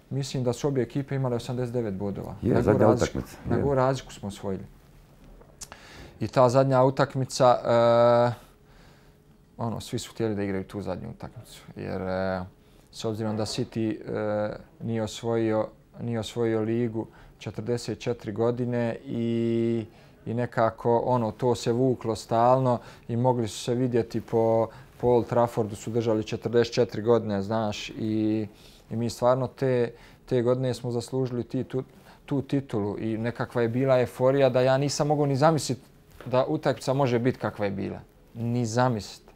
Mislim da su obje ekipe imale osamdeset devet bodova. Je, zadnja utakmica. Na gol razliku smo osvojili. I ta zadnja utakmica, uh, ono, svi su htjeli da igraju tu zadnju utakmicu. Jer uh, s obzirom da City uh, nije osvojio, nije osvojio ligu četrdeset četiri godine i, i nekako ono, to se vuklo stalno i mogli su se vidjeti po, po Old Traffordu su držali četrdeset četiri godine, znaš, i, i mi stvarno te, te godine smo zaslužili ti, tu, tu titulu i nekakva je bila euforija da ja nisam mogao ni zamisliti da utakmica može biti kakva je bila. Ni zamisliti.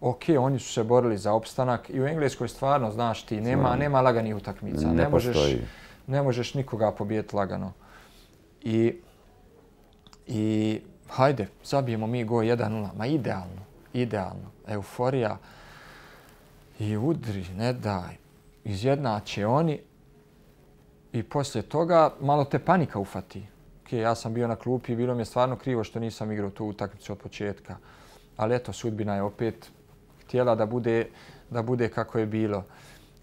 Ok, oni su se borili za opstanak i u Engleskoj stvarno, znaš ti, nema, nema laganih utakmica. Ne, ne možeš, postoji. Ne možeš nikoga pobijeti lagano. I, i hajde, zabijemo mi go jedan nula. Ma idealno, idealno. Euforija i udri, ne daj. Izjednače oni i poslije toga malo te panika ufati. Ok, ja sam bio na klupi i bilo mi je stvarno krivo što nisam igrao tu utakmicu od početka. Ali eto, sudbina je opet htjela da bude, da bude kako je bilo.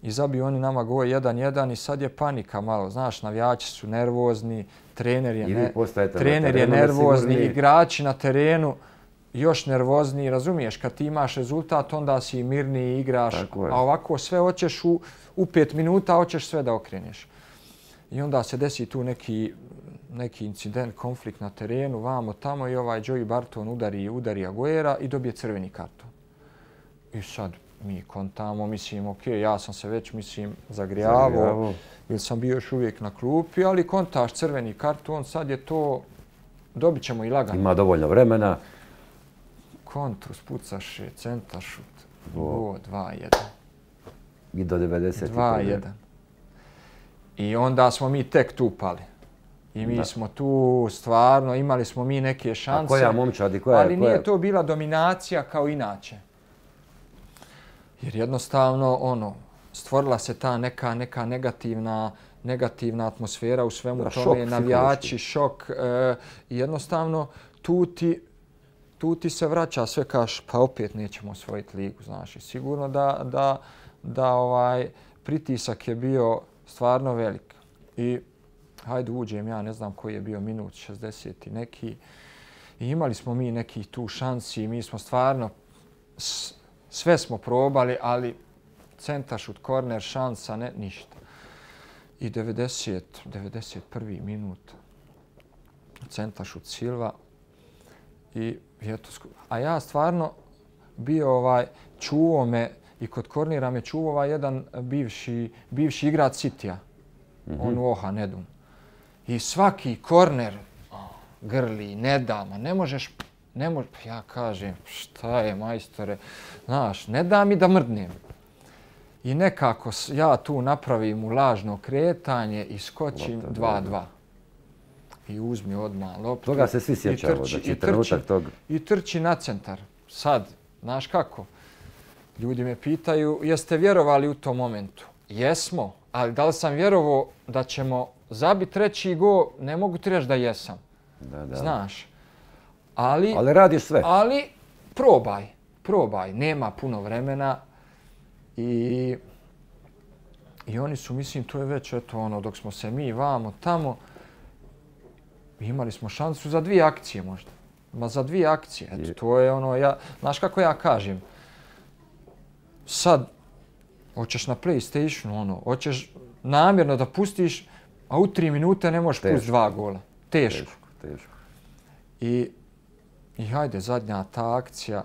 I zabiju oni nama gol jedan jedan i sad je panika malo. Znaš, navijači su nervozni, trener je, ne, trener je nervozni, igrači na terenu još nervozni. Razumiješ, kad ti imaš rezultat, onda si mirniji, igraš, a ovako sve hoćeš u, u pet minuta, hoćeš sve da okreneš. I onda se desi tu neki, neki incident, konflikt na terenu, vamo tamo i ovaj Joey Barton udari, udari Aguera i dobije crveni karton. I sad mi kontamo, mislim, ok, ja sam se već, mislim, zagrijavao, jer sam bio još uvijek na klupi, ali kontaš crveni karton, sad je to, dobit ćemo i lagano. Ima dovoljno vremena. Kontru, spucaše, centaršut, go, dva jedan. I do devedeset. dva jedan. I onda smo mi tek tu pali. I mi da. smo tu stvarno, imali smo mi neke šanse. A koja momčad i koja? Ali nije to bila dominacija kao inače. Jer jednostavno, ono, stvorila se ta neka, neka negativna, negativna atmosfera u svemu da, tome, šok, navijači, šok. E, jednostavno, tu ti, tu ti se vraća sve, kaš, pa opet nećemo osvojiti ligu, znaš. I sigurno da, da, da ovaj pritisak je bio stvarno velik. I hajde uđem, ja ne znam koji je bio minut, šezdeset i neki. I imali smo mi nekih tu šansi i mi smo stvarno, s, sve smo probali, ali centaršut, korner, šansa, ne, ništa. I devedeset, devedeset prvi minut, centaršut Silva. I eto, a ja stvarno bio ovaj, čuo me i kod kornira me čuo ovaj jedan bivši, bivši igrač Cityja, mm-hmm. on Oha Nedum. I svaki korner oh, grli, ne da, ma ne možeš, ne možeš, ja kažem, šta je majstore, znaš, ne da mi da mrdnem. I nekako ja tu napravim u lažno kretanje i skočim dva dva. I uzmi odmah loptu. Toga se svi sjećamo, znači trenutak tog. I trči na centar. Sad, znaš kako? Ljudi me pitaju, jeste vjerovali u tom momentu? Jesmo, ali da li sam vjerovao da ćemo zabiti treći gol, ne mogu ti reći da jesam. Da, da. Znaš. Ali, ali radiš sve. Ali probaj, probaj. Nema puno vremena i I oni su, mislim, to je već, eto, ono, dok smo se mi vamo tamo, imali smo šansu za dvije akcije možda. Ma za dvije akcije, eto, to je ono, ja, znaš kako ja kažem, sad, hoćeš na PlayStationu, ono, hoćeš namjerno da pustiš, a u tri minute ne možeš pustiti dva gola. Teško. Teško, teško. I, i hajde, zadnja ta akcija,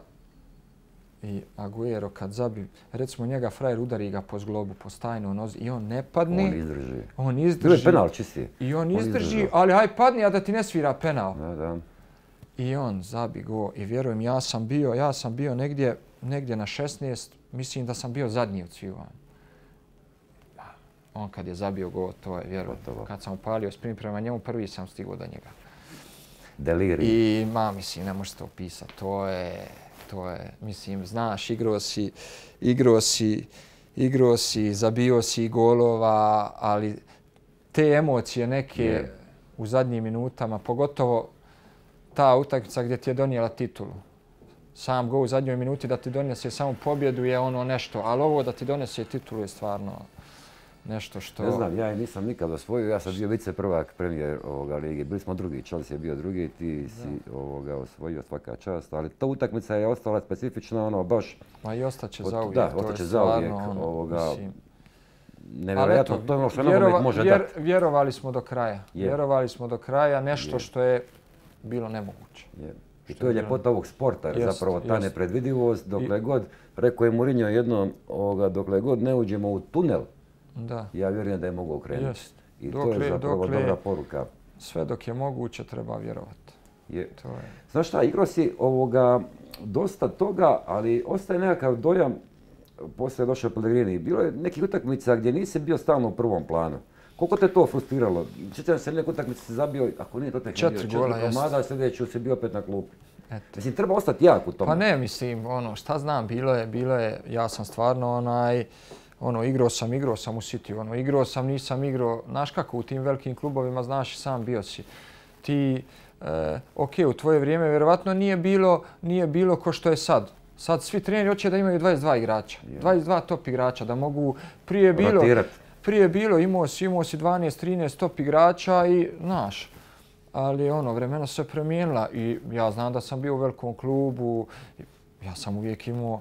i Aguero kad zabi, recimo njega frajer udari ga po zglobu, po stajnoj nozi i on ne padne. On izdrži. On izdrži. Bilo je penal čisti. I on, on izdrži, izdrži, ali haj padni, a da ti ne svira penal. Da, da. I on zabi go. I vjerujem, ja sam bio, ja sam bio negdje, negdje na šesnaest, mislim da sam bio zadnji od svih. On kad je zabio go, to je vjerujem. Kad sam upalio sprint prema njemu, prvi sam stigao do njega. Deliri. I ma, mislim, ne možete opisati. To je, to je, mislim, znaš, igrao si, igrao si, igrao si, zabio si golova, ali te emocije neke yeah. u zadnjim minutama, pogotovo ta utakmica gdje ti je donijela titulu. Sam go u zadnjoj minuti da ti donese samo pobjedu je ono nešto, ali ovo da ti donese titulu je stvarno nešto što... Ne znam, ja je nisam nikad osvojio, ja sam bio vice prvak premijer ovoga lige. Bili smo drugi, Chelsea je bio drugi, ti si ovoga osvojio, svaka čast, ali ta utakmica je ostala specifična, ono baš... Ma i ostaće za uvijek, da, to ostaće je za uvijek, stvarno, ono, ovoga, mislim... nevjerojatno, to je ono što vjerova, nogomet može vjer, dati. Vjerovali smo do kraja, Je. vjerovali smo do kraja, nešto Je. što je bilo nemoguće. Je. I to je ljepota ovog sporta, jer jest, zapravo ta jest. nepredvidivost, dokle I... god, rekao je Mourinho jednom, ovoga, dokle god ne uđemo u tunel, da. ja vjerujem da je mogu okrenuti. Jest. I dokle, to je zapravo dokle, dobra poruka. Sve dok je moguće treba vjerovati. Je. To je. Znaš šta, igrao si ovoga, dosta toga, ali ostaje nekakav dojam, poslije je došao Pellegrini. Bilo je nekih utakmica gdje nisi bio stalno u prvom planu. Koliko te to frustriralo? Sjećam se neke utakmice se zabio, ako nije to tek četiri bio, gola, četiri komada, a sljedeću si bio opet na klupi. Eto. Mislim, treba ostati jak u tome. Pa ne, mislim, ono, šta znam, bilo je, bilo je, ja sam stvarno onaj, ono, igrao sam, igrao sam u City, ono, igrao sam, nisam igrao, znaš kako, u tim velikim klubovima, znaš i sam bio si. Ti, e, ok, u tvoje vrijeme vjerovatno nije bilo, nije bilo ko što je sad. Sad svi treneri hoće da imaju dvadeset dva igrača, yeah. dvadeset dva top igrača, da mogu, prije bilo, rotirat. Prije bilo, imao si, imao si dvanaest trinaest top igrača i, znaš, ali ono, vremena se promijenila i ja znam da sam bio u velikom klubu, ja sam uvijek imao,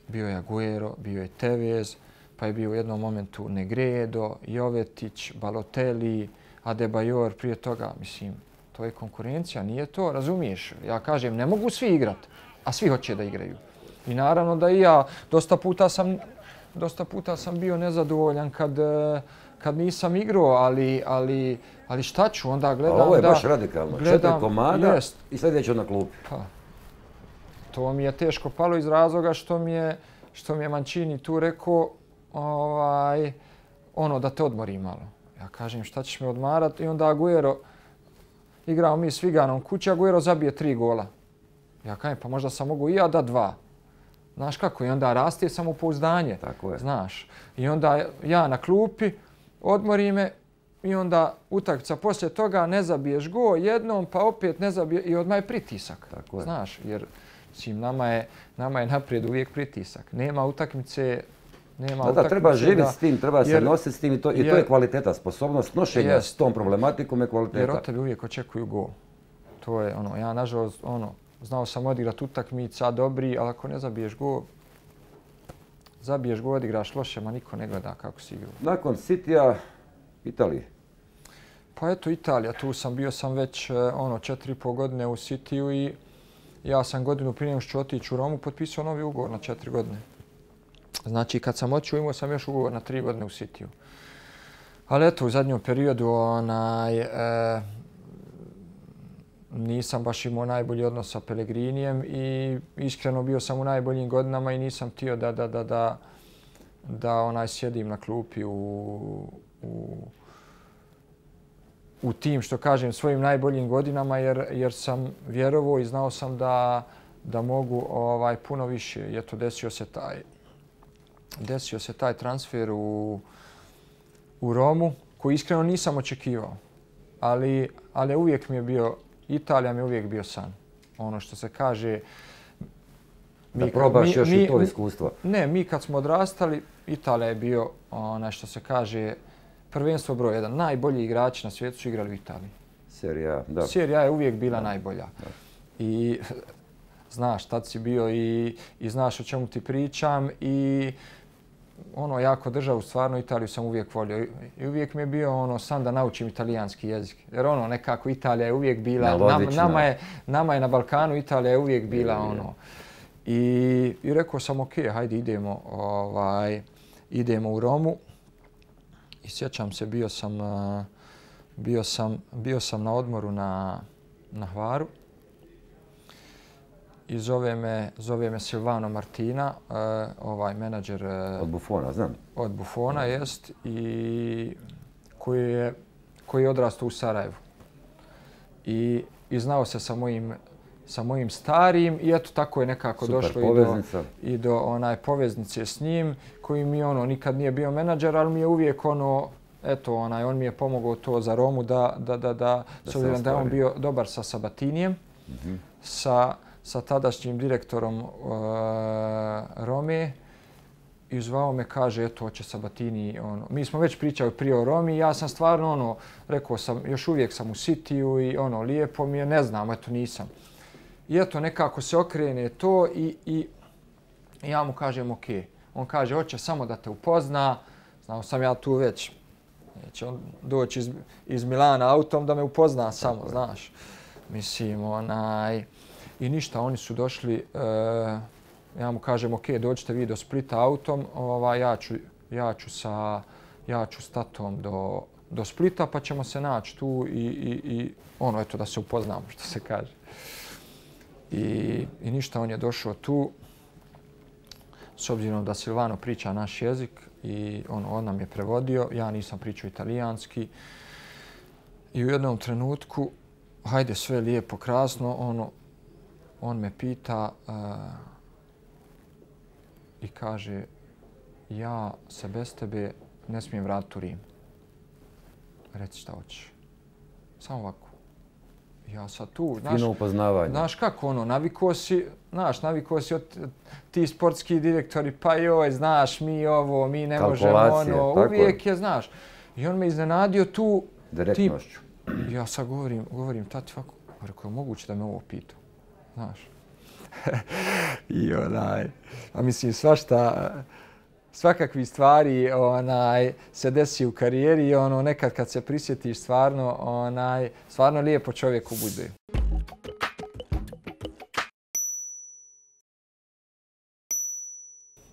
bio je Aguero, bio je Tevez, pa je bio u jednom momentu Negredo, Jovetić, Balotelli, Adebayor, prije toga, mislim, to je konkurencija, nije to, razumiješ? Ja kažem, ne mogu svi igrati, a svi hoće da igraju. I naravno da i ja, dosta puta sam, dosta puta sam bio nezadovoljan kad, kad nisam igrao, ali, ali, ali šta ću, onda gledam da... A ovo je baš radikalno, četiri komada jest. I sljedeće na klupi. Pa, to mi je teško palo iz razloga što mi je, što mi je Mancini tu rekao, ovaj, ono da te odmori malo. Ja kažem šta ćeš me odmarati i onda Aguero, igrao mi s Viganom kući, Aguero zabije tri gola. Ja kažem pa možda sam mogu i ja da dva. Znaš kako, i onda raste samopouzdanje. Tako je. Znaš, i onda ja na klupi, odmori me i onda utakmica poslije toga ne zabiješ go jednom, pa opet ne zabiješ i odmah je pritisak. Tako je. Znaš, jer sim, nama, je, nama je naprijed uvijek pritisak. Nema utakmice, nema da, da, treba živjeti s tim, treba jer, se nositi s tim i to, jer, i to je kvaliteta, sposobnost nošenja jest, s tom problematikom je kvaliteta. Jer od tebe uvijek očekuju go. To je ono, ja nažalost, ono, znao sam odigrati utakmica dobri, ali ako ne zabiješ go, zabiješ go, odigraš loše, ma niko ne gleda kako si igrao. Nakon Citya, Italije. Pa eto, Italija, tu sam bio sam već ono četiri i pol godine u Cityu i ja sam godinu prije nego što ću otići u Romu potpisao novi ugovor na četiri godine. Znači, kad sam otišao, imao sam još ugovor na tri godine u Cityu. Ali eto, u zadnjom periodu onaj, e, nisam baš imao najbolji odnos sa Pellegrinijem i iskreno bio sam u najboljim godinama i nisam htio da, da, da, da, da onaj sjedim na klupi u, u, u tim, što kažem, svojim najboljim godinama jer, jer sam vjerovao i znao sam da, da mogu ovaj, puno više. I eto, desio se taj, desio se taj transfer u, u Romu koji iskreno nisam očekivao. Ali, ali uvijek mi je bio, Italija mi je uvijek bio san. Ono što se kaže, Da probaš još i to iskustvo. Ne, mi kad smo odrastali, Italija je bio, onaj što se kaže, prvenstvo broj jedan. Najbolji igrači na svijetu su igrali u Italiji. Serie A, da. Serie A je uvijek bila najbolja. I znaš, tad si bio i, i znaš o čemu ti pričam i ono, jako državu, stvarno Italiju sam uvijek volio. I uvijek mi je bio ono, san da naučim italijanski jezik. Jer ono, nekako Italija je uvijek bila, nam, nama, je, nama je na Balkanu Italija je uvijek bila ono. I, i rekao sam, ok, hajde idemo, ovaj, idemo u Romu. I sjećam se, bio sam, bio sam, bio sam na odmoru na, na Hvaru. I zove me, zove me Silvano Martina, uh, ovaj menadžer... Uh, od Buffona, znam. Od Buffona, jest. I koji je, koji je odrastao u Sarajevu. I, i znao se sa mojim, sa mojim starijim i eto tako je nekako Super, došlo poveznica. i do, i do onaj poveznice s njim, koji mi ono nikad nije bio menadžer, ali mi je uvijek ono, eto, onaj, on mi je pomogao to za Romu da, da, da, da, da s obzirom da je on bio dobar sa Sabatinijem, mm-hmm. sa sa tadašnjim direktorom uh, Rome i zvao me, kaže, eto, hoće Sabatini. Ono. Mi smo već pričali prije o Romi, ja sam stvarno, ono, rekao sam, još uvijek sam u Cityu i ono, lijepo mi je, ne znam, eto, nisam. I eto, nekako se okrene to i, i ja mu kažem, ok. On kaže, hoće samo da te upozna, znao sam ja tu već, neće on doći iz, iz Milana autom da me upozna samo, znaš. Mislim, onaj... I ništa, oni su došli, uh, ja mu kažem, ok, dođite vi do Splita autom, ovaj, ja, ću, ja, ću sa, ja ću s tatom do, do Splita pa ćemo se naći tu i, i, i ono, eto, da se upoznamo, što se kaže. I, i ništa, on je došao tu, s obzirom da Silvano priča naš jezik i ono, on nam je prevodio, ja nisam pričao italijanski. I u jednom trenutku, hajde, sve lijepo, krasno, ono, on me pita uh, i kaže, ja se bez tebe ne smijem vratiti u Rim. Reci šta hoćeš. Samo ovako. Ja sad tu, znaš, fino upoznavanje. Znaš kako ono, naviko si, znaš, naviko si od ti sportski direktori, pa joj, znaš, mi ovo, mi ne možemo ono, uvijek je, znaš. I on me iznenadio tu. Direktnošću. Ti, ja sad govorim, govorim, tati, ovako, rekao je moguće da me ovo pitao. Znaš. I onaj, a mislim svašta, svakakvi stvari onaj, se desi u karijeri i ono, nekad kad se prisjetiš stvarno, onaj, stvarno lijepo čovjeku bude.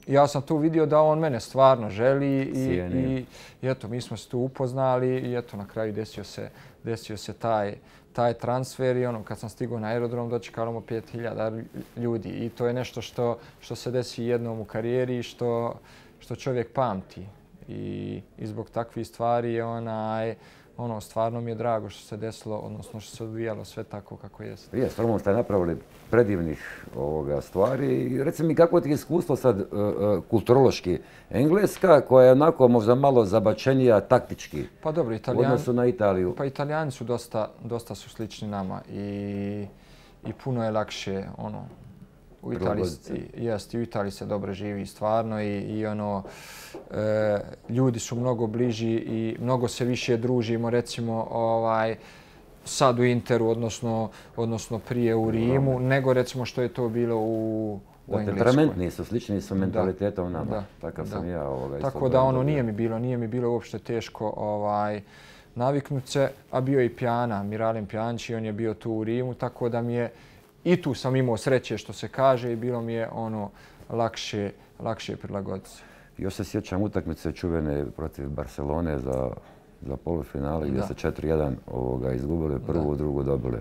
Ja sam tu vidio da on mene stvarno želi i, i, i eto, mi smo se tu upoznali i eto, na kraju desio se, desio se taj, taj transfer i ono, kad sam stigao na aerodrom dočekalo mu pet hiljada ljudi i to je nešto što, što se desi jednom u karijeri i što, što čovjek pamti. I, i zbog takvih stvari onaj, ono, stvarno mi je drago što se desilo, odnosno što se odvijalo sve tako kako jeste. Je, stvarno ste napravili predivnih ovoga stvari. Reci mi, kako ti je iskustvo sad uh, uh, kulturološki? Engleska, koja je onako možda malo zabačenija taktički pa dobro, Italijani, u odnosu na Italiju. Pa Italijani su dosta, dosta su slični nama i, i puno je lakše ono, u Italiji, jest, u Italiji se dobro živi stvarno i, i ono, e, ljudi su mnogo bliži i mnogo se više družimo, recimo ovaj, sad u Interu, odnosno, odnosno prije u Rimu, no. nego recimo što je to bilo u, u Engleskoj. Temperamentni su, slični su mentalitetom nama. Da, Takav da. sam ja. Ovoga, Tako da ono nije mi bilo, nije mi bilo uopšte teško ovaj, naviknuti se, a bio i Pjana, Miralem Pjanić, on je bio tu u Rimu, tako da mi je i tu sam imao sreće što se kaže i bilo mi je ono lakše, lakše prilagoditi se. Još se sjećam utakmice čuvene protiv Barcelone za, za polufinale gdje se četiri jedan ovoga izgubili, prvu, da. drugu dobili.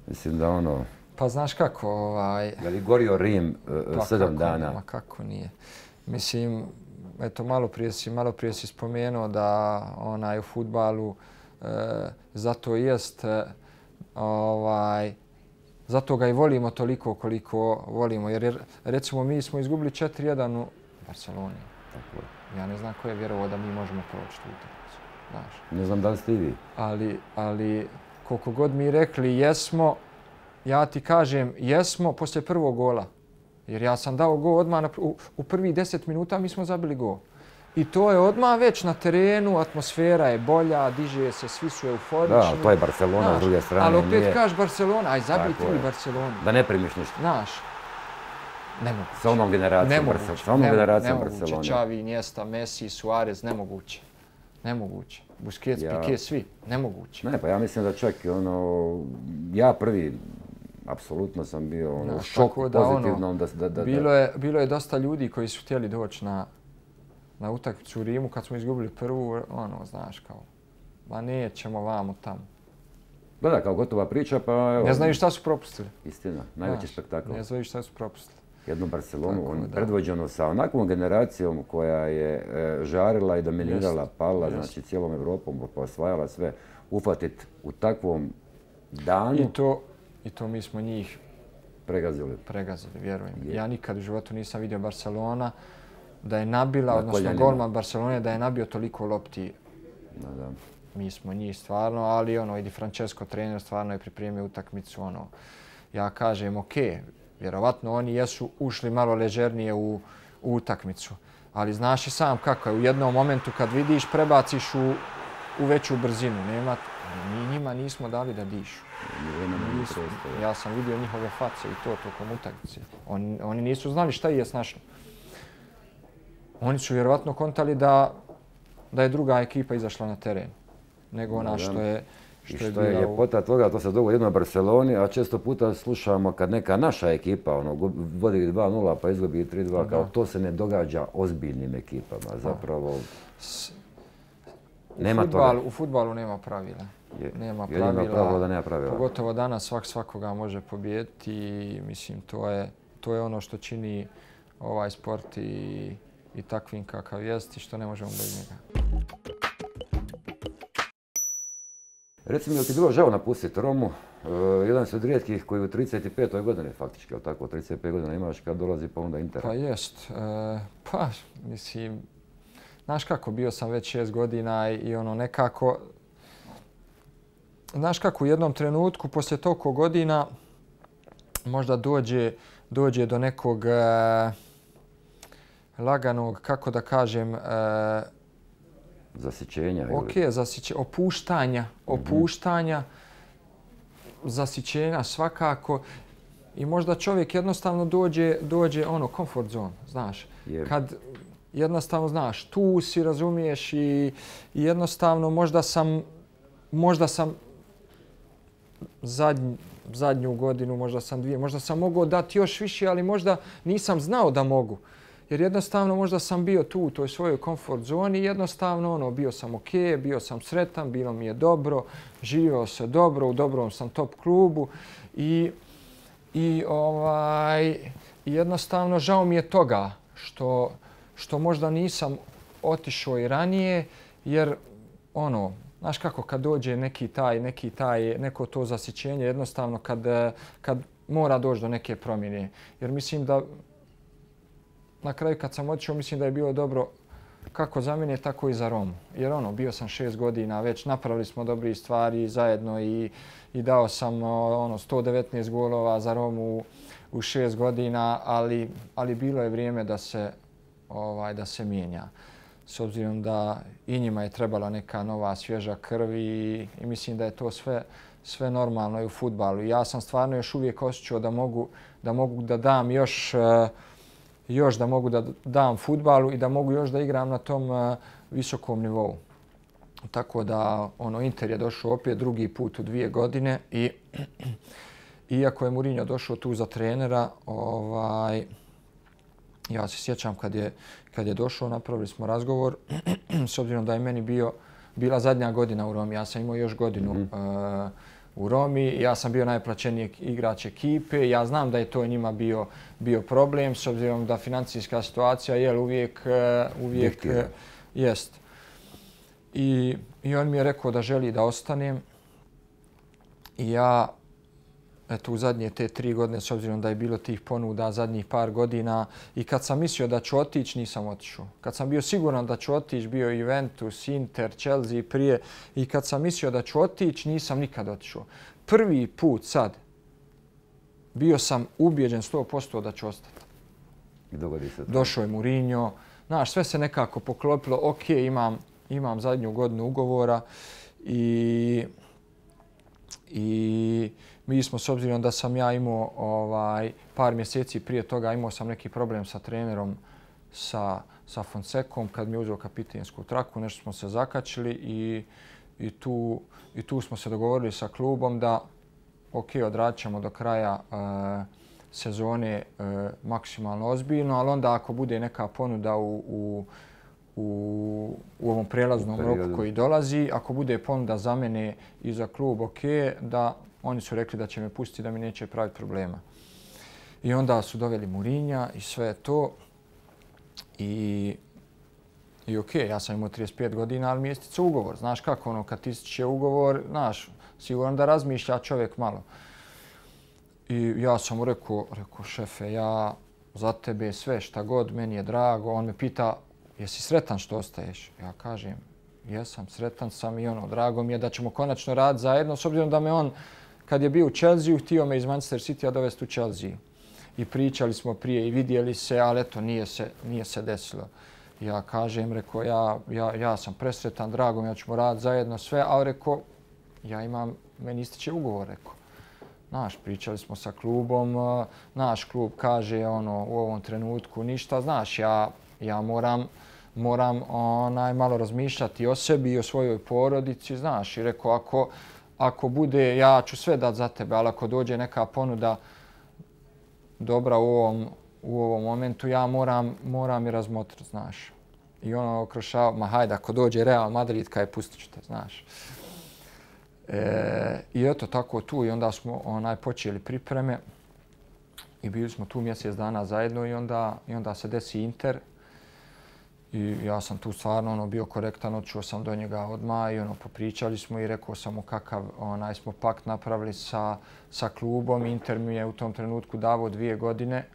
Mislim da ono... Pa znaš kako... Ovaj... Je li gorio Rim uh, pa sedam kako, dana? Ma kako nije. Mislim, eto, malo prije si, malo prije si spomenuo da onaj u fudbalu e, zato jest e, ovaj, zato ga i volimo toliko koliko volimo. Jer recimo mi smo izgubili četiri jedan u Barceloni. Tako je. Ja ne znam ko je vjerovao da mi možemo proći tu utakmicu. Znaš. Ne znam da li ste i vi. Ali, ali koliko god mi rekli jesmo, ja ti kažem jesmo poslije prvog gola. Jer ja sam dao gol odmah u, u prvih deset minuta, mi smo zabili gol. I to je odmah već na terenu, atmosfera je bolja, diže se, svi su euforični. Da, to je Barcelona, znaš, s druge strane. Ali opet nije... kažeš Barcelona, aj zabij ti Barcelonu. Da ne primiš ništa. Znaš, nemoguće. Sa onom generacijom Barcelona. Sa onom generacijom Barcelona. Nemoguće, Xavi, Iniesta, Messi, Suarez, nemoguće. Nemoguće. Busquets, ja... Piqué, svi. Nemoguće. Ne, pa ja mislim da čak ono, ja prvi, apsolutno sam bio ono, no, šok da, pozitivnom. Ono, da, da, da, bilo, je, bilo je dosta ljudi koji su htjeli doći na, na utakmicu u Rimu kad smo izgubili prvu, ono, znaš, kao, ma nećemo vamo tamo. Da, da, kao gotova priča, pa evo... Ne znaju šta su propustili. Istina, najveći spektakl. Ne znaju šta su propustili. Jednu Barcelonu, on, predvođenu sa onakvom generacijom koja je e, žarila i dominirala, jest, pala, jest. Znači cijelom Evropom, pa osvajala sve, ufatit u takvom danu. I to, i to mi smo njih pregazili. Pregazili, vjerujem. Je. Ja nikad u životu nisam vidio Barcelona da je nabila, na odnosno koljanima. Golman Barcelone, da je nabio toliko lopti. Da, da. Mi smo njih stvarno, ali ono, i Di Francesco trener stvarno je pripremio utakmicu. Ono, ja kažem, ok, vjerovatno oni jesu ušli malo ležernije u, u utakmicu. Ali znaš i sam kako je. U jednom momentu kad vidiš, prebaciš u, u veću brzinu. Nema, mi njima nismo dali da dišu. Nismo, ja sam vidio njihove face i to tokom utakmice. On, oni nisu znali šta je snašlo. Oni su vjerovatno kontali da, da je druga ekipa izašla na teren. Nego ona što je... Što I što je ljepota toga, to se dogodi jedno u Barceloni, a često puta slušamo kad neka naša ekipa ono, vodi dva nula pa izgubi tri dva, kao to se ne događa ozbiljnim ekipama. Zapravo, S, nema u futbalu, toga. U futbalu nema pravila. Je, nema pravila, pravilo da nema pravila. Pogotovo danas svak svakoga može pobijediti i mislim to je, to je ono što čini ovaj sport i, i takvim kakav jest i što ne možemo bez njega. Reci mi, je li ti bilo žao napustiti Romu? Uh, jedan si od rijetkih koji u trideset petoj godini faktički, ali tako, trideset pet godina imaš kad dolazi pa onda Inter. Pa jest. E, pa, mislim, znaš kako, bio sam već šest godina i, i ono nekako... Znaš kako, u jednom trenutku, poslije toliko godina, možda dođe, dođe do nekog e, laganog, kako da kažem, e, zasićenja. Ok, zasiće, opuštanja, opuštanja, mm-hmm. zasićenja svakako. I možda čovjek jednostavno dođe, dođe ono, comfort zone, znaš. Yep. Kad jednostavno, znaš, tu si, razumiješ i, i jednostavno možda sam, možda sam zadnj, zadnju godinu, možda sam dvije, možda sam mogao dati još više, ali možda nisam znao da mogu. Jer jednostavno možda sam bio tu u toj svojoj komfort zoni i jednostavno ono, bio sam ok, bio sam sretan, bilo mi je dobro, živio se dobro, u dobrom sam top klubu i, i ovaj, jednostavno žao mi je toga što, što možda nisam otišao i ranije jer ono, znaš kako kad dođe neki taj, neki taj, neko to zasićenje jednostavno kad, kad mora doći do neke promjene. Jer mislim da na kraju kad sam otišao, mislim da je bilo dobro kako za mene, tako i za Romu. Jer ono, bio sam šest godina, već napravili smo dobri stvari zajedno i, i dao sam ono, sto devetnaest golova za Romu u, u šest godina, ali, ali bilo je vrijeme da se, ovaj, da se mijenja. S obzirom da i njima je trebala neka nova svježa krv i, i mislim da je to sve, sve normalno i u fudbalu. Ja sam stvarno još uvijek osjećao da mogu da, mogu da dam još... Uh, još da mogu da dam fudbalu i da mogu još da igram na tom uh, visokom nivou. Tako da ono Inter je došao opet drugi put u dvije godine i iako je Mourinho došao tu za trenera, ovaj, ja se sjećam kad je, kad je došao, napravili smo razgovor s obzirom da je meni bio, bila zadnja godina u Romi. Ja sam imao još godinu mm-hmm. uh, u Romi. Ja sam bio najplaćeniji igrač ekipe. Ja znam da je to njima bio, bio problem s obzirom da financijska situacija je uvijek, uvijek jest. I, I on mi je rekao da želi da ostanem. I ja, eto, u zadnje te tri godine, s obzirom da je bilo tih ponuda zadnjih par godina, i kad sam mislio da ću otići, nisam otišao. Kad sam bio siguran da ću otići, bio Juventus, Inter, Chelsea prije, i kad sam mislio da ću otići, nisam nikad otišao. Prvi put sad bio sam ubijeđen sto posto da ću ostati. I dogodi se to. Došao je Mourinho. Znaš, sve se nekako poklopilo. Ok, imam, imam zadnju godinu ugovora i, i mi smo, s obzirom da sam ja imao ovaj, par mjeseci prije toga, imao sam neki problem sa trenerom, sa, sa Fonsecom, kad mi je uzeo kapitensku traku, nešto smo se zakačili i, i, tu, i tu smo se dogovorili sa klubom da ok, odradit ćemo do kraja uh, sezone uh, maksimalno ozbiljno, ali onda ako bude neka ponuda u, u, u, u ovom prelaznom roku koji dolazi, ako bude ponuda za mene i za klub, ok, da oni su rekli da će me pustiti, da mi neće praviti problema. I onda su doveli Mourinha i sve to. I, i ok, ja sam imao trideset pet godina, ali mi je isticao ugovor. Znaš kako, ono, kad ističe ugovor, znaš, sigurno da razmišlja čovjek malo. I ja sam mu rekao, rekao, šefe, ja za tebe sve šta god, meni je drago. On me pita, jesi sretan što ostaješ? Ja kažem, jesam, sretan sam i ono, drago mi je da ćemo konačno raditi zajedno, s obzirom da me on, kad je bio u Chelsea, htio me iz Manchester Citya dovesti u Chelsea. I pričali smo prije i vidjeli se, ali eto, nije se, nije se desilo. Ja kažem, rekao, ja, ja, ja sam presretan, drago mi, ja ćemo raditi zajedno sve, ali rekao, ja imam, meni ističe ugovor, rekao. Znaš, pričali smo sa klubom, naš klub kaže ono, u ovom trenutku ništa, znaš, ja, ja moram, moram onaj, malo razmišljati o sebi i o svojoj porodici, znaš, i rekao, ako, ako bude, ja ću sve dati za tebe, ali ako dođe neka ponuda dobra u ovom, u ovom momentu, ja moram, moram i razmotriti, znaš. I ono okrošava, ma hajde, ako dođe Real Madrid, kaj pustit ću te, znaš. E, I eto, tako tu i onda smo onaj, počeli pripreme i bili smo tu mjesec dana zajedno i onda, i onda se desi Inter. I ja sam tu stvarno ono, bio korektan, odšao sam do njega odmah i ono, popričali smo i rekao sam mu kakav onaj, smo pakt napravili sa, sa klubom. Inter mi je u tom trenutku davao dvije godine, e,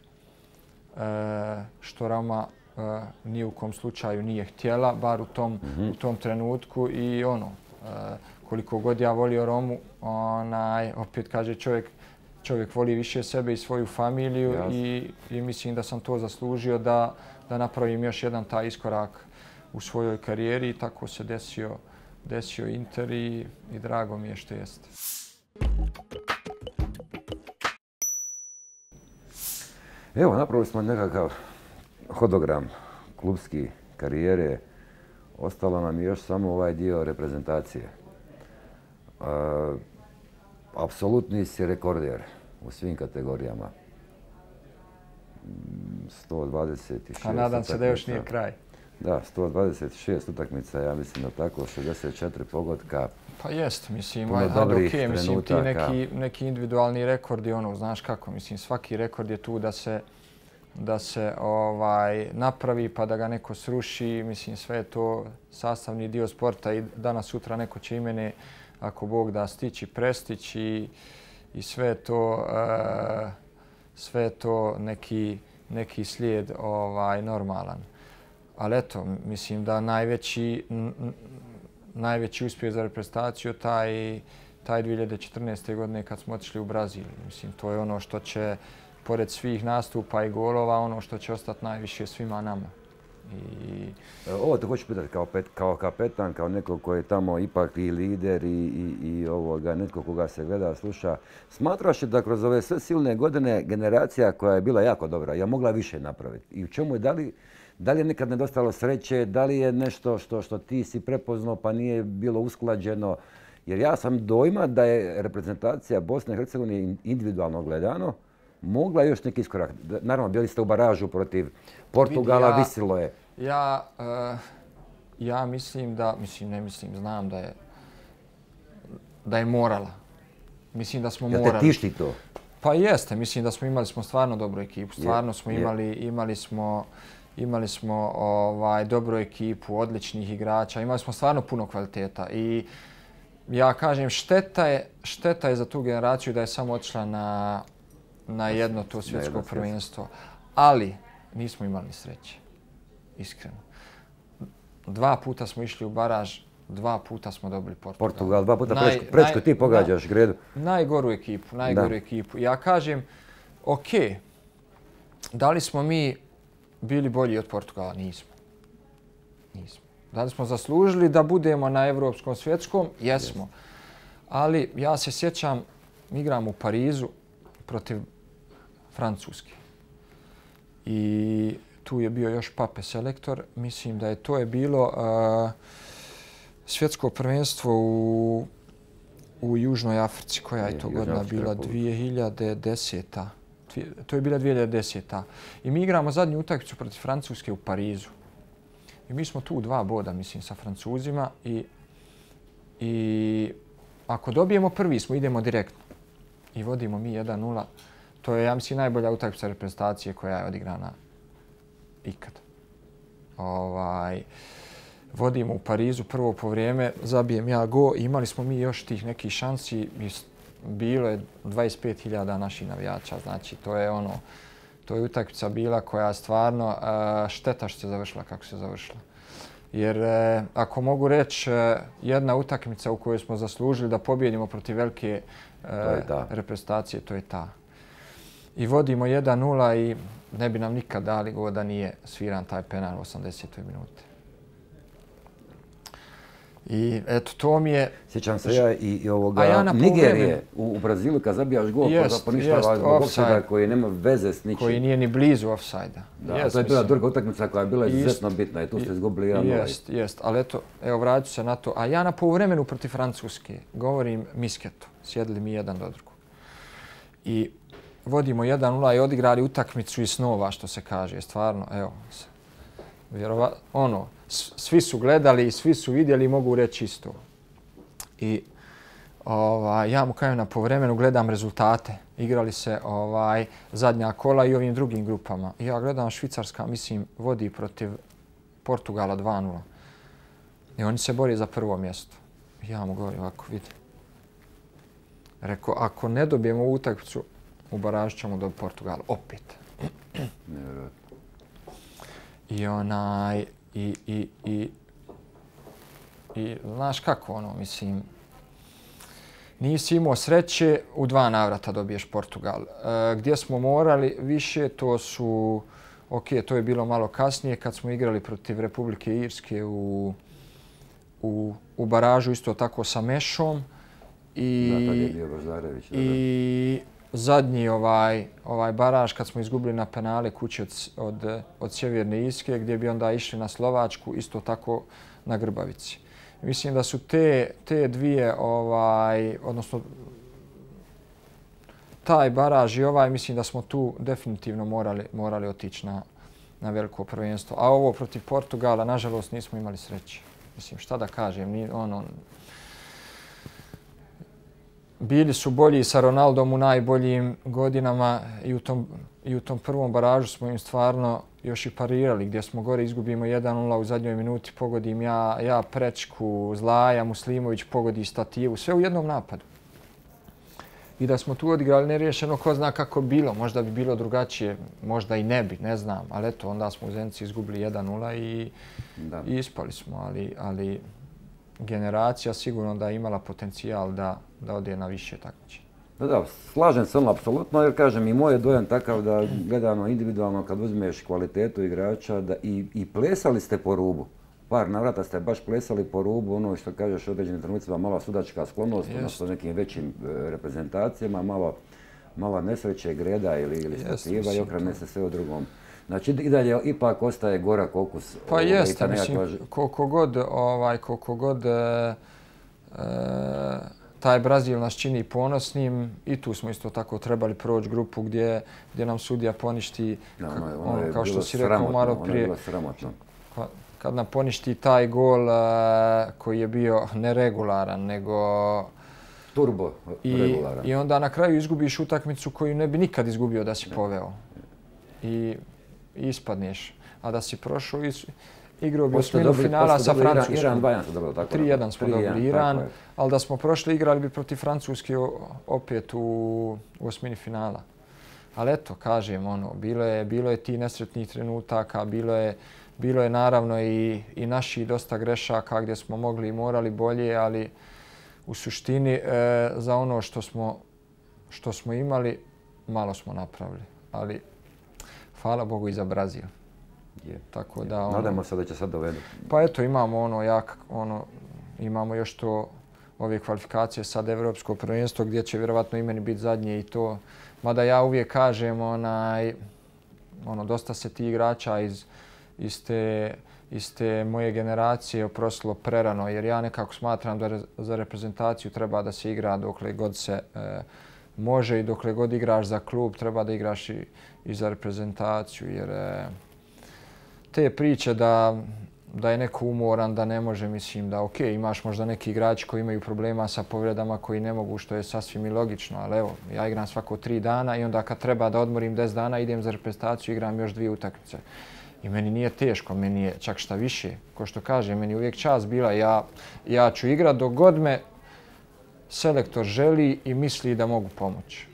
što Roma e, ni u kom slučaju nije htjela, bar u tom, mm-hmm. u tom trenutku. I ono, e, koliko god ja volio Romu, onaj, opet kaže čovjek, čovjek voli više sebe i svoju familiju i, i mislim da sam to zaslužio da, da napravim još jedan taj iskorak u svojoj karijeri i tako se desio, desio Inter i, i drago mi je što jeste. Evo, napravili smo nekakav hodogram klubski karijere. Ostalo nam je još samo ovaj dio reprezentacije. Uh, apsolutni si rekorder u svim kategorijama. sto dvadeset šest A nadam se da još nije kraj. Da, sto dvadeset šest utakmica, ja mislim da tako, šezdeset četiri pogotka. Pa jest, mislim, aj, okay, mislim ti neki, neki individualni rekordi, ono, znaš kako, mislim, svaki rekord je tu da se, da se ovaj, napravi pa da ga neko sruši, mislim, sve je to sastavni dio sporta i danas sutra neko će i mene, ako Bog da, stići, prestići i, i sve to, uh, sve to neki, neki slijed ovaj, normalan. Ali eto, mislim da najveći, n, najveći uspjeh za reprezentaciju taj, taj dvije hiljade četrnaeste. godine kad smo otišli u Brazil. Mislim, to je ono što će, pored svih nastupa i golova, ono što će ostati najviše svima nama. I... Ovo te hoću pitati kao, pet, kao kapetan, kao neko koji je tamo ipak i lider i, i, i ovoga, netko koga se gleda, sluša. Smatraš da kroz ove sve silne godine generacija koja je bila jako dobra je mogla više napraviti? I u čemu je, da li, da li je nekad nedostalo sreće, da li je nešto što, što ti si prepoznao pa nije bilo usklađeno? Jer ja sam dojma da je reprezentacija Bosne i Hercegovine individualno gledano mogla još neki iskorak. Naravno, bili ste u baražu protiv Portugala, ja, visilo je. Ja, uh, ja mislim da, mislim, ne mislim, znam da je, da je morala. Mislim da smo ja morali. Te tišti to? Pa jeste, mislim da smo imali smo stvarno dobru ekipu. Stvarno smo imali, imali smo, imali smo ovaj, dobru ekipu, odličnih igrača. Imali smo stvarno puno kvaliteta i ja kažem, šteta je, šteta je za tu generaciju da je samo otišla na na jedno to svjetsko prvenstvo. Ali nismo imali sreće. Iskreno. Dva puta smo išli u baraž, dva puta smo dobili Portugal. Portugal, dva puta naj, prečko ti pogađaš, da, Gredu. Najgoru ekipu, najgoru da. ekipu. Ja kažem, ok, da li smo mi bili bolji od Portugala? Nismo. Nismo. Da li smo zaslužili da budemo na evropskom svjetskom? Jesmo. Ali ja se sjećam, igram u Parizu protiv Francuske. I tu je bio još Pape selektor. Mislim da je to je bilo uh, svjetsko prvenstvo u, u Južnoj Africi. Koja je to godina bila? dvije hiljade deseta. To je bila dvije hiljade deseta. I mi igramo zadnju utakmicu protiv Francuske u Parizu. I mi smo tu dva boda, mislim, sa Francuzima. I, i ako dobijemo prvi smo, idemo direktno. I vodimo mi jedan nula. To je, ja mislim, najbolja utakmica reprezentacije koja je odigrana ikad. Ovaj, vodimo u Parizu prvo po vrijeme, zabijem ja go. Imali smo mi još tih nekih šansi. Bilo je dvadeset pet hiljada naših navijača. Znači, to je ono, to je utakmica bila koja stvarno šteta što se završila kako se završila. Jer ako mogu reći, jedna utakmica u kojoj smo zaslužili da pobjedimo protiv velike reprezentacije, to je ta. I vodimo jedan nula i ne bi nam nikad dali go da nije sviran taj penal u osamdesetoj minuti. I eto, to mi je... Sjećam se ja i, i ovoga ja Nigerije u, u Brazilu kad zabijaš gol, jest, pa poništava zbog ofsajda koji nema veze s ničim. Koji nije ni blizu ofsajda. Da, jest, to je bila druga utakmica koja je bila izuzetno bitna i tu ste izgubili jedan nula. Jest, jest, ali eto, evo vraću se na to. A ja na poluvremenu protiv Francuske govorim misketu. Sjedili mi jedan do drugog. I vodimo jedan nula i odigrali utakmicu iz snova, što se kaže. Stvarno, evo, vjerova, ono, svi su gledali i svi su vidjeli i mogu reći isto. I ovaj, ja mu kažem na povremenu gledam rezultate. Igrali se ovaj, zadnja kola i ovim drugim grupama. I ja gledam Švicarska, mislim, vodi protiv Portugala dva nula. I oni se bori za prvo mjesto. I ja mu govorim ovako, vidi. Rekao, ako ne dobijemo ovu utakmicu, u baražu ćemo do Portugala. Opet. Nevjerojatno. I onaj... I, i, i, i znaš kako ono, mislim, nisi imao sreće, u dva navrata dobiješ Portugal. E, gdje smo morali više, to su, ok, to je bilo malo kasnije kad smo igrali protiv Republike Irske u, u, u baražu isto tako sa Mešom. I, da, tad je bio Baždarević. I zadnji ovaj, ovaj baraž kad smo izgubili na penale kući od, od, od Sjeverne Irske gdje bi onda išli na Slovačku, isto tako na Grbavici. Mislim da su te, te dvije, ovaj, odnosno taj baraž i ovaj, mislim da smo tu definitivno morali, morali otići na, na veliko prvenstvo. A ovo protiv Portugala, nažalost, nismo imali sreće. Mislim, šta da kažem, ni, ono, bili su bolji sa Ronaldom u najboljim godinama i u tom, i u tom prvom baražu smo im stvarno još i parirali gdje smo gore izgubimo jedan nula u zadnjoj minuti, pogodim ja, ja prečku, Zlaja, Muslimović pogodi stativu, sve u jednom napadu. I da smo tu odigrali neriješeno, ko zna kako bilo, možda bi bilo drugačije, možda i ne bi, ne znam, ali eto, onda smo u Zenici izgubili jedan nula i, i ispali smo, ali, ali generacija sigurno da je imala potencijal da, da ode na više takmičenja. Da, da, slažem se ono apsolutno, jer kažem i moj je dojam takav da gledano individualno kad uzmeš kvalitetu igrača da i, i plesali ste po rubu. Par navrata ste baš plesali po rubu, ono što kažeš u određenim trenucima, malo sudačka sklonost, odnosno nekim većim reprezentacijama, malo, malo nesreće, greda ili, ili stativa i okrene se sve u drugom. Znači i dalje ipak ostaje gorak okus. Pa jeste, mislim, koliko god, ovaj, koliko god e, e, taj Brazil nas čini ponosnim i tu smo isto tako trebali proći grupu gdje, gdje nam sudija poništi, no, ono, ono, ono, kao što si rekao malo prije. Ono je bilo sramotno. Kad nam poništi taj gol uh, koji je bio neregularan, nego... Turbo regularan. I, I onda na kraju izgubiš utakmicu koju ne bi nikad izgubio da si poveo. I, i ispadneš. A da si prošao i igrao bi osminu finala sa Francuskom. Iran dva jedan smo dobili, tako tri jedan smo dobili Iran, ali da smo prošli igrali bi protiv Francuske opet u, u osmini finala. Ali eto, kažem, ono, bilo je, bilo je ti nesretnih trenutaka, bilo je Bilo je naravno i, i naši dosta grešaka gdje smo mogli i morali bolje, ali u suštini e, za ono što smo, što smo imali, malo smo napravili. Ali hvala Bogu i za Brazil. Je. Tako da, ono, nadamo se da će sad dovedu. Pa eto, imamo ono jak, ono, imamo još to, ove kvalifikacije sad Evropsko prvenstvo gdje će vjerovatno i meni biti zadnje i to. Mada ja uvijek kažem, onaj, ono, dosta se ti igrača iz, iz, te, iz te moje generacije oprostilo prerano, jer ja nekako smatram da re, za reprezentaciju treba da se igra dokle god se e, može i dokle god igraš za klub treba da igraš i, i za reprezentaciju, jer e, te priče da da je neko umoran, da ne može, mislim da ok, imaš možda neki igrači koji imaju problema sa povredama koji ne mogu, što je sasvim i logično, ali evo, ja igram svako tri dana i onda kad treba da odmorim deset dana, idem za reprezentaciju, igram još dvije utakmice. I meni nije teško, meni je čak šta više. Ko što kaže, meni uvijek čast bila, ja, ja ću igrat dok god me selektor želi i misli da mogu pomoći.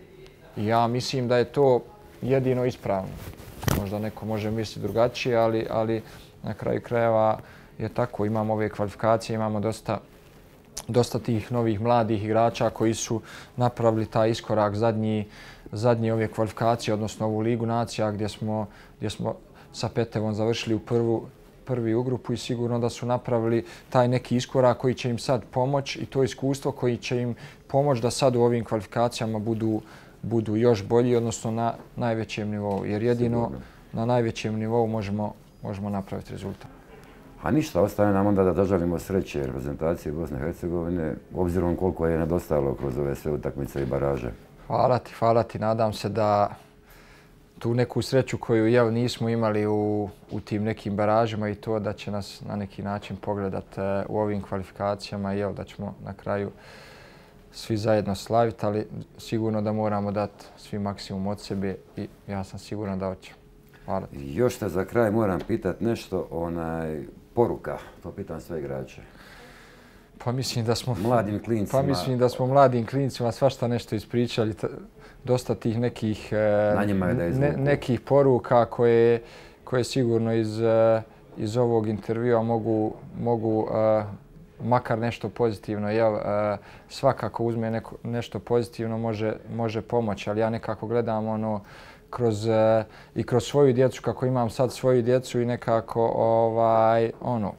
I ja mislim da je to jedino ispravno. Možda neko može misliti drugačije, ali, ali na kraju krajeva je tako. Imamo ove kvalifikacije, imamo dosta, dosta tih novih mladih igrača koji su napravili taj iskorak zadnji, zadnji ove kvalifikacije, odnosno ovu Ligu nacija gdje smo, gdje smo sa Petevom završili u prvu, prvi u grupu i sigurno da su napravili taj neki iskorak koji će im sad pomoći i to iskustvo koji će im pomoći da sad u ovim kvalifikacijama budu, budu još bolji, odnosno na najvećem nivou. Jer jedino sigurno na najvećem nivou možemo, možemo napraviti rezultat. A ništa, ostaje nam onda da doželimo sreće reprezentacije Bosne i Hercegovine, obzirom koliko je nedostajalo kroz ove sve utakmice i baraže. Hvala ti, hvala ti. Nadam se da tu neku sreću koju jel, nismo imali u, u tim nekim baražima i to da će nas na neki način pogledati u ovim kvalifikacijama i jel, da ćemo na kraju svi zajedno slaviti, ali sigurno da moramo dati svi maksimum od sebe i ja sam siguran da hoćemo. Hvala ti. Još te za kraj moram pitati nešto, onaj, poruka, to pitam sve igrače. Pa mislim da smo mladim klincima. Pa mislim da smo mladim klincima svašta nešto ispričali, dosta tih nekih ne, nekih poruka koje koje sigurno iz iz ovog intervjua mogu mogu uh, makar nešto pozitivno, jel, uh, svakako uzme neko, nešto pozitivno može može pomoći, ali ja nekako gledam ono kroz uh, i kroz svoju djecu, kako imam sad svoju djecu i nekako ovaj ono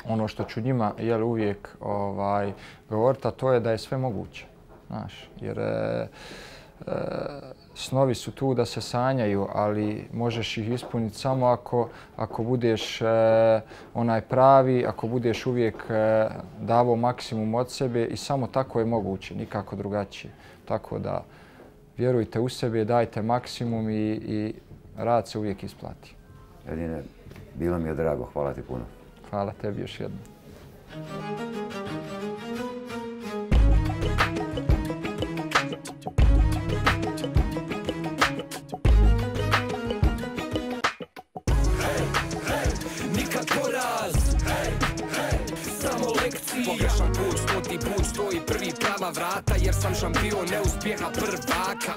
ono što ću njima jel, uvijek ovaj, govoriti, a to je da je sve moguće. Znaš, jer e, e, snovi su tu da se sanjaju, ali možeš ih ispuniti samo ako, ako budeš e, onaj pravi, ako budeš uvijek e, davo maksimum od sebe i samo tako je moguće, nikako drugačije. Tako da vjerujte u sebe, dajte maksimum i, i rad se uvijek isplati. Edine, bilo mi je drago, hvala ti puno. Hvala tebi još jednom. Nikad poraz, samo lekcije. Pogrešan put, stoti put, stoji prvi prava vrata, jer sam šampion neuspjeha prvaka.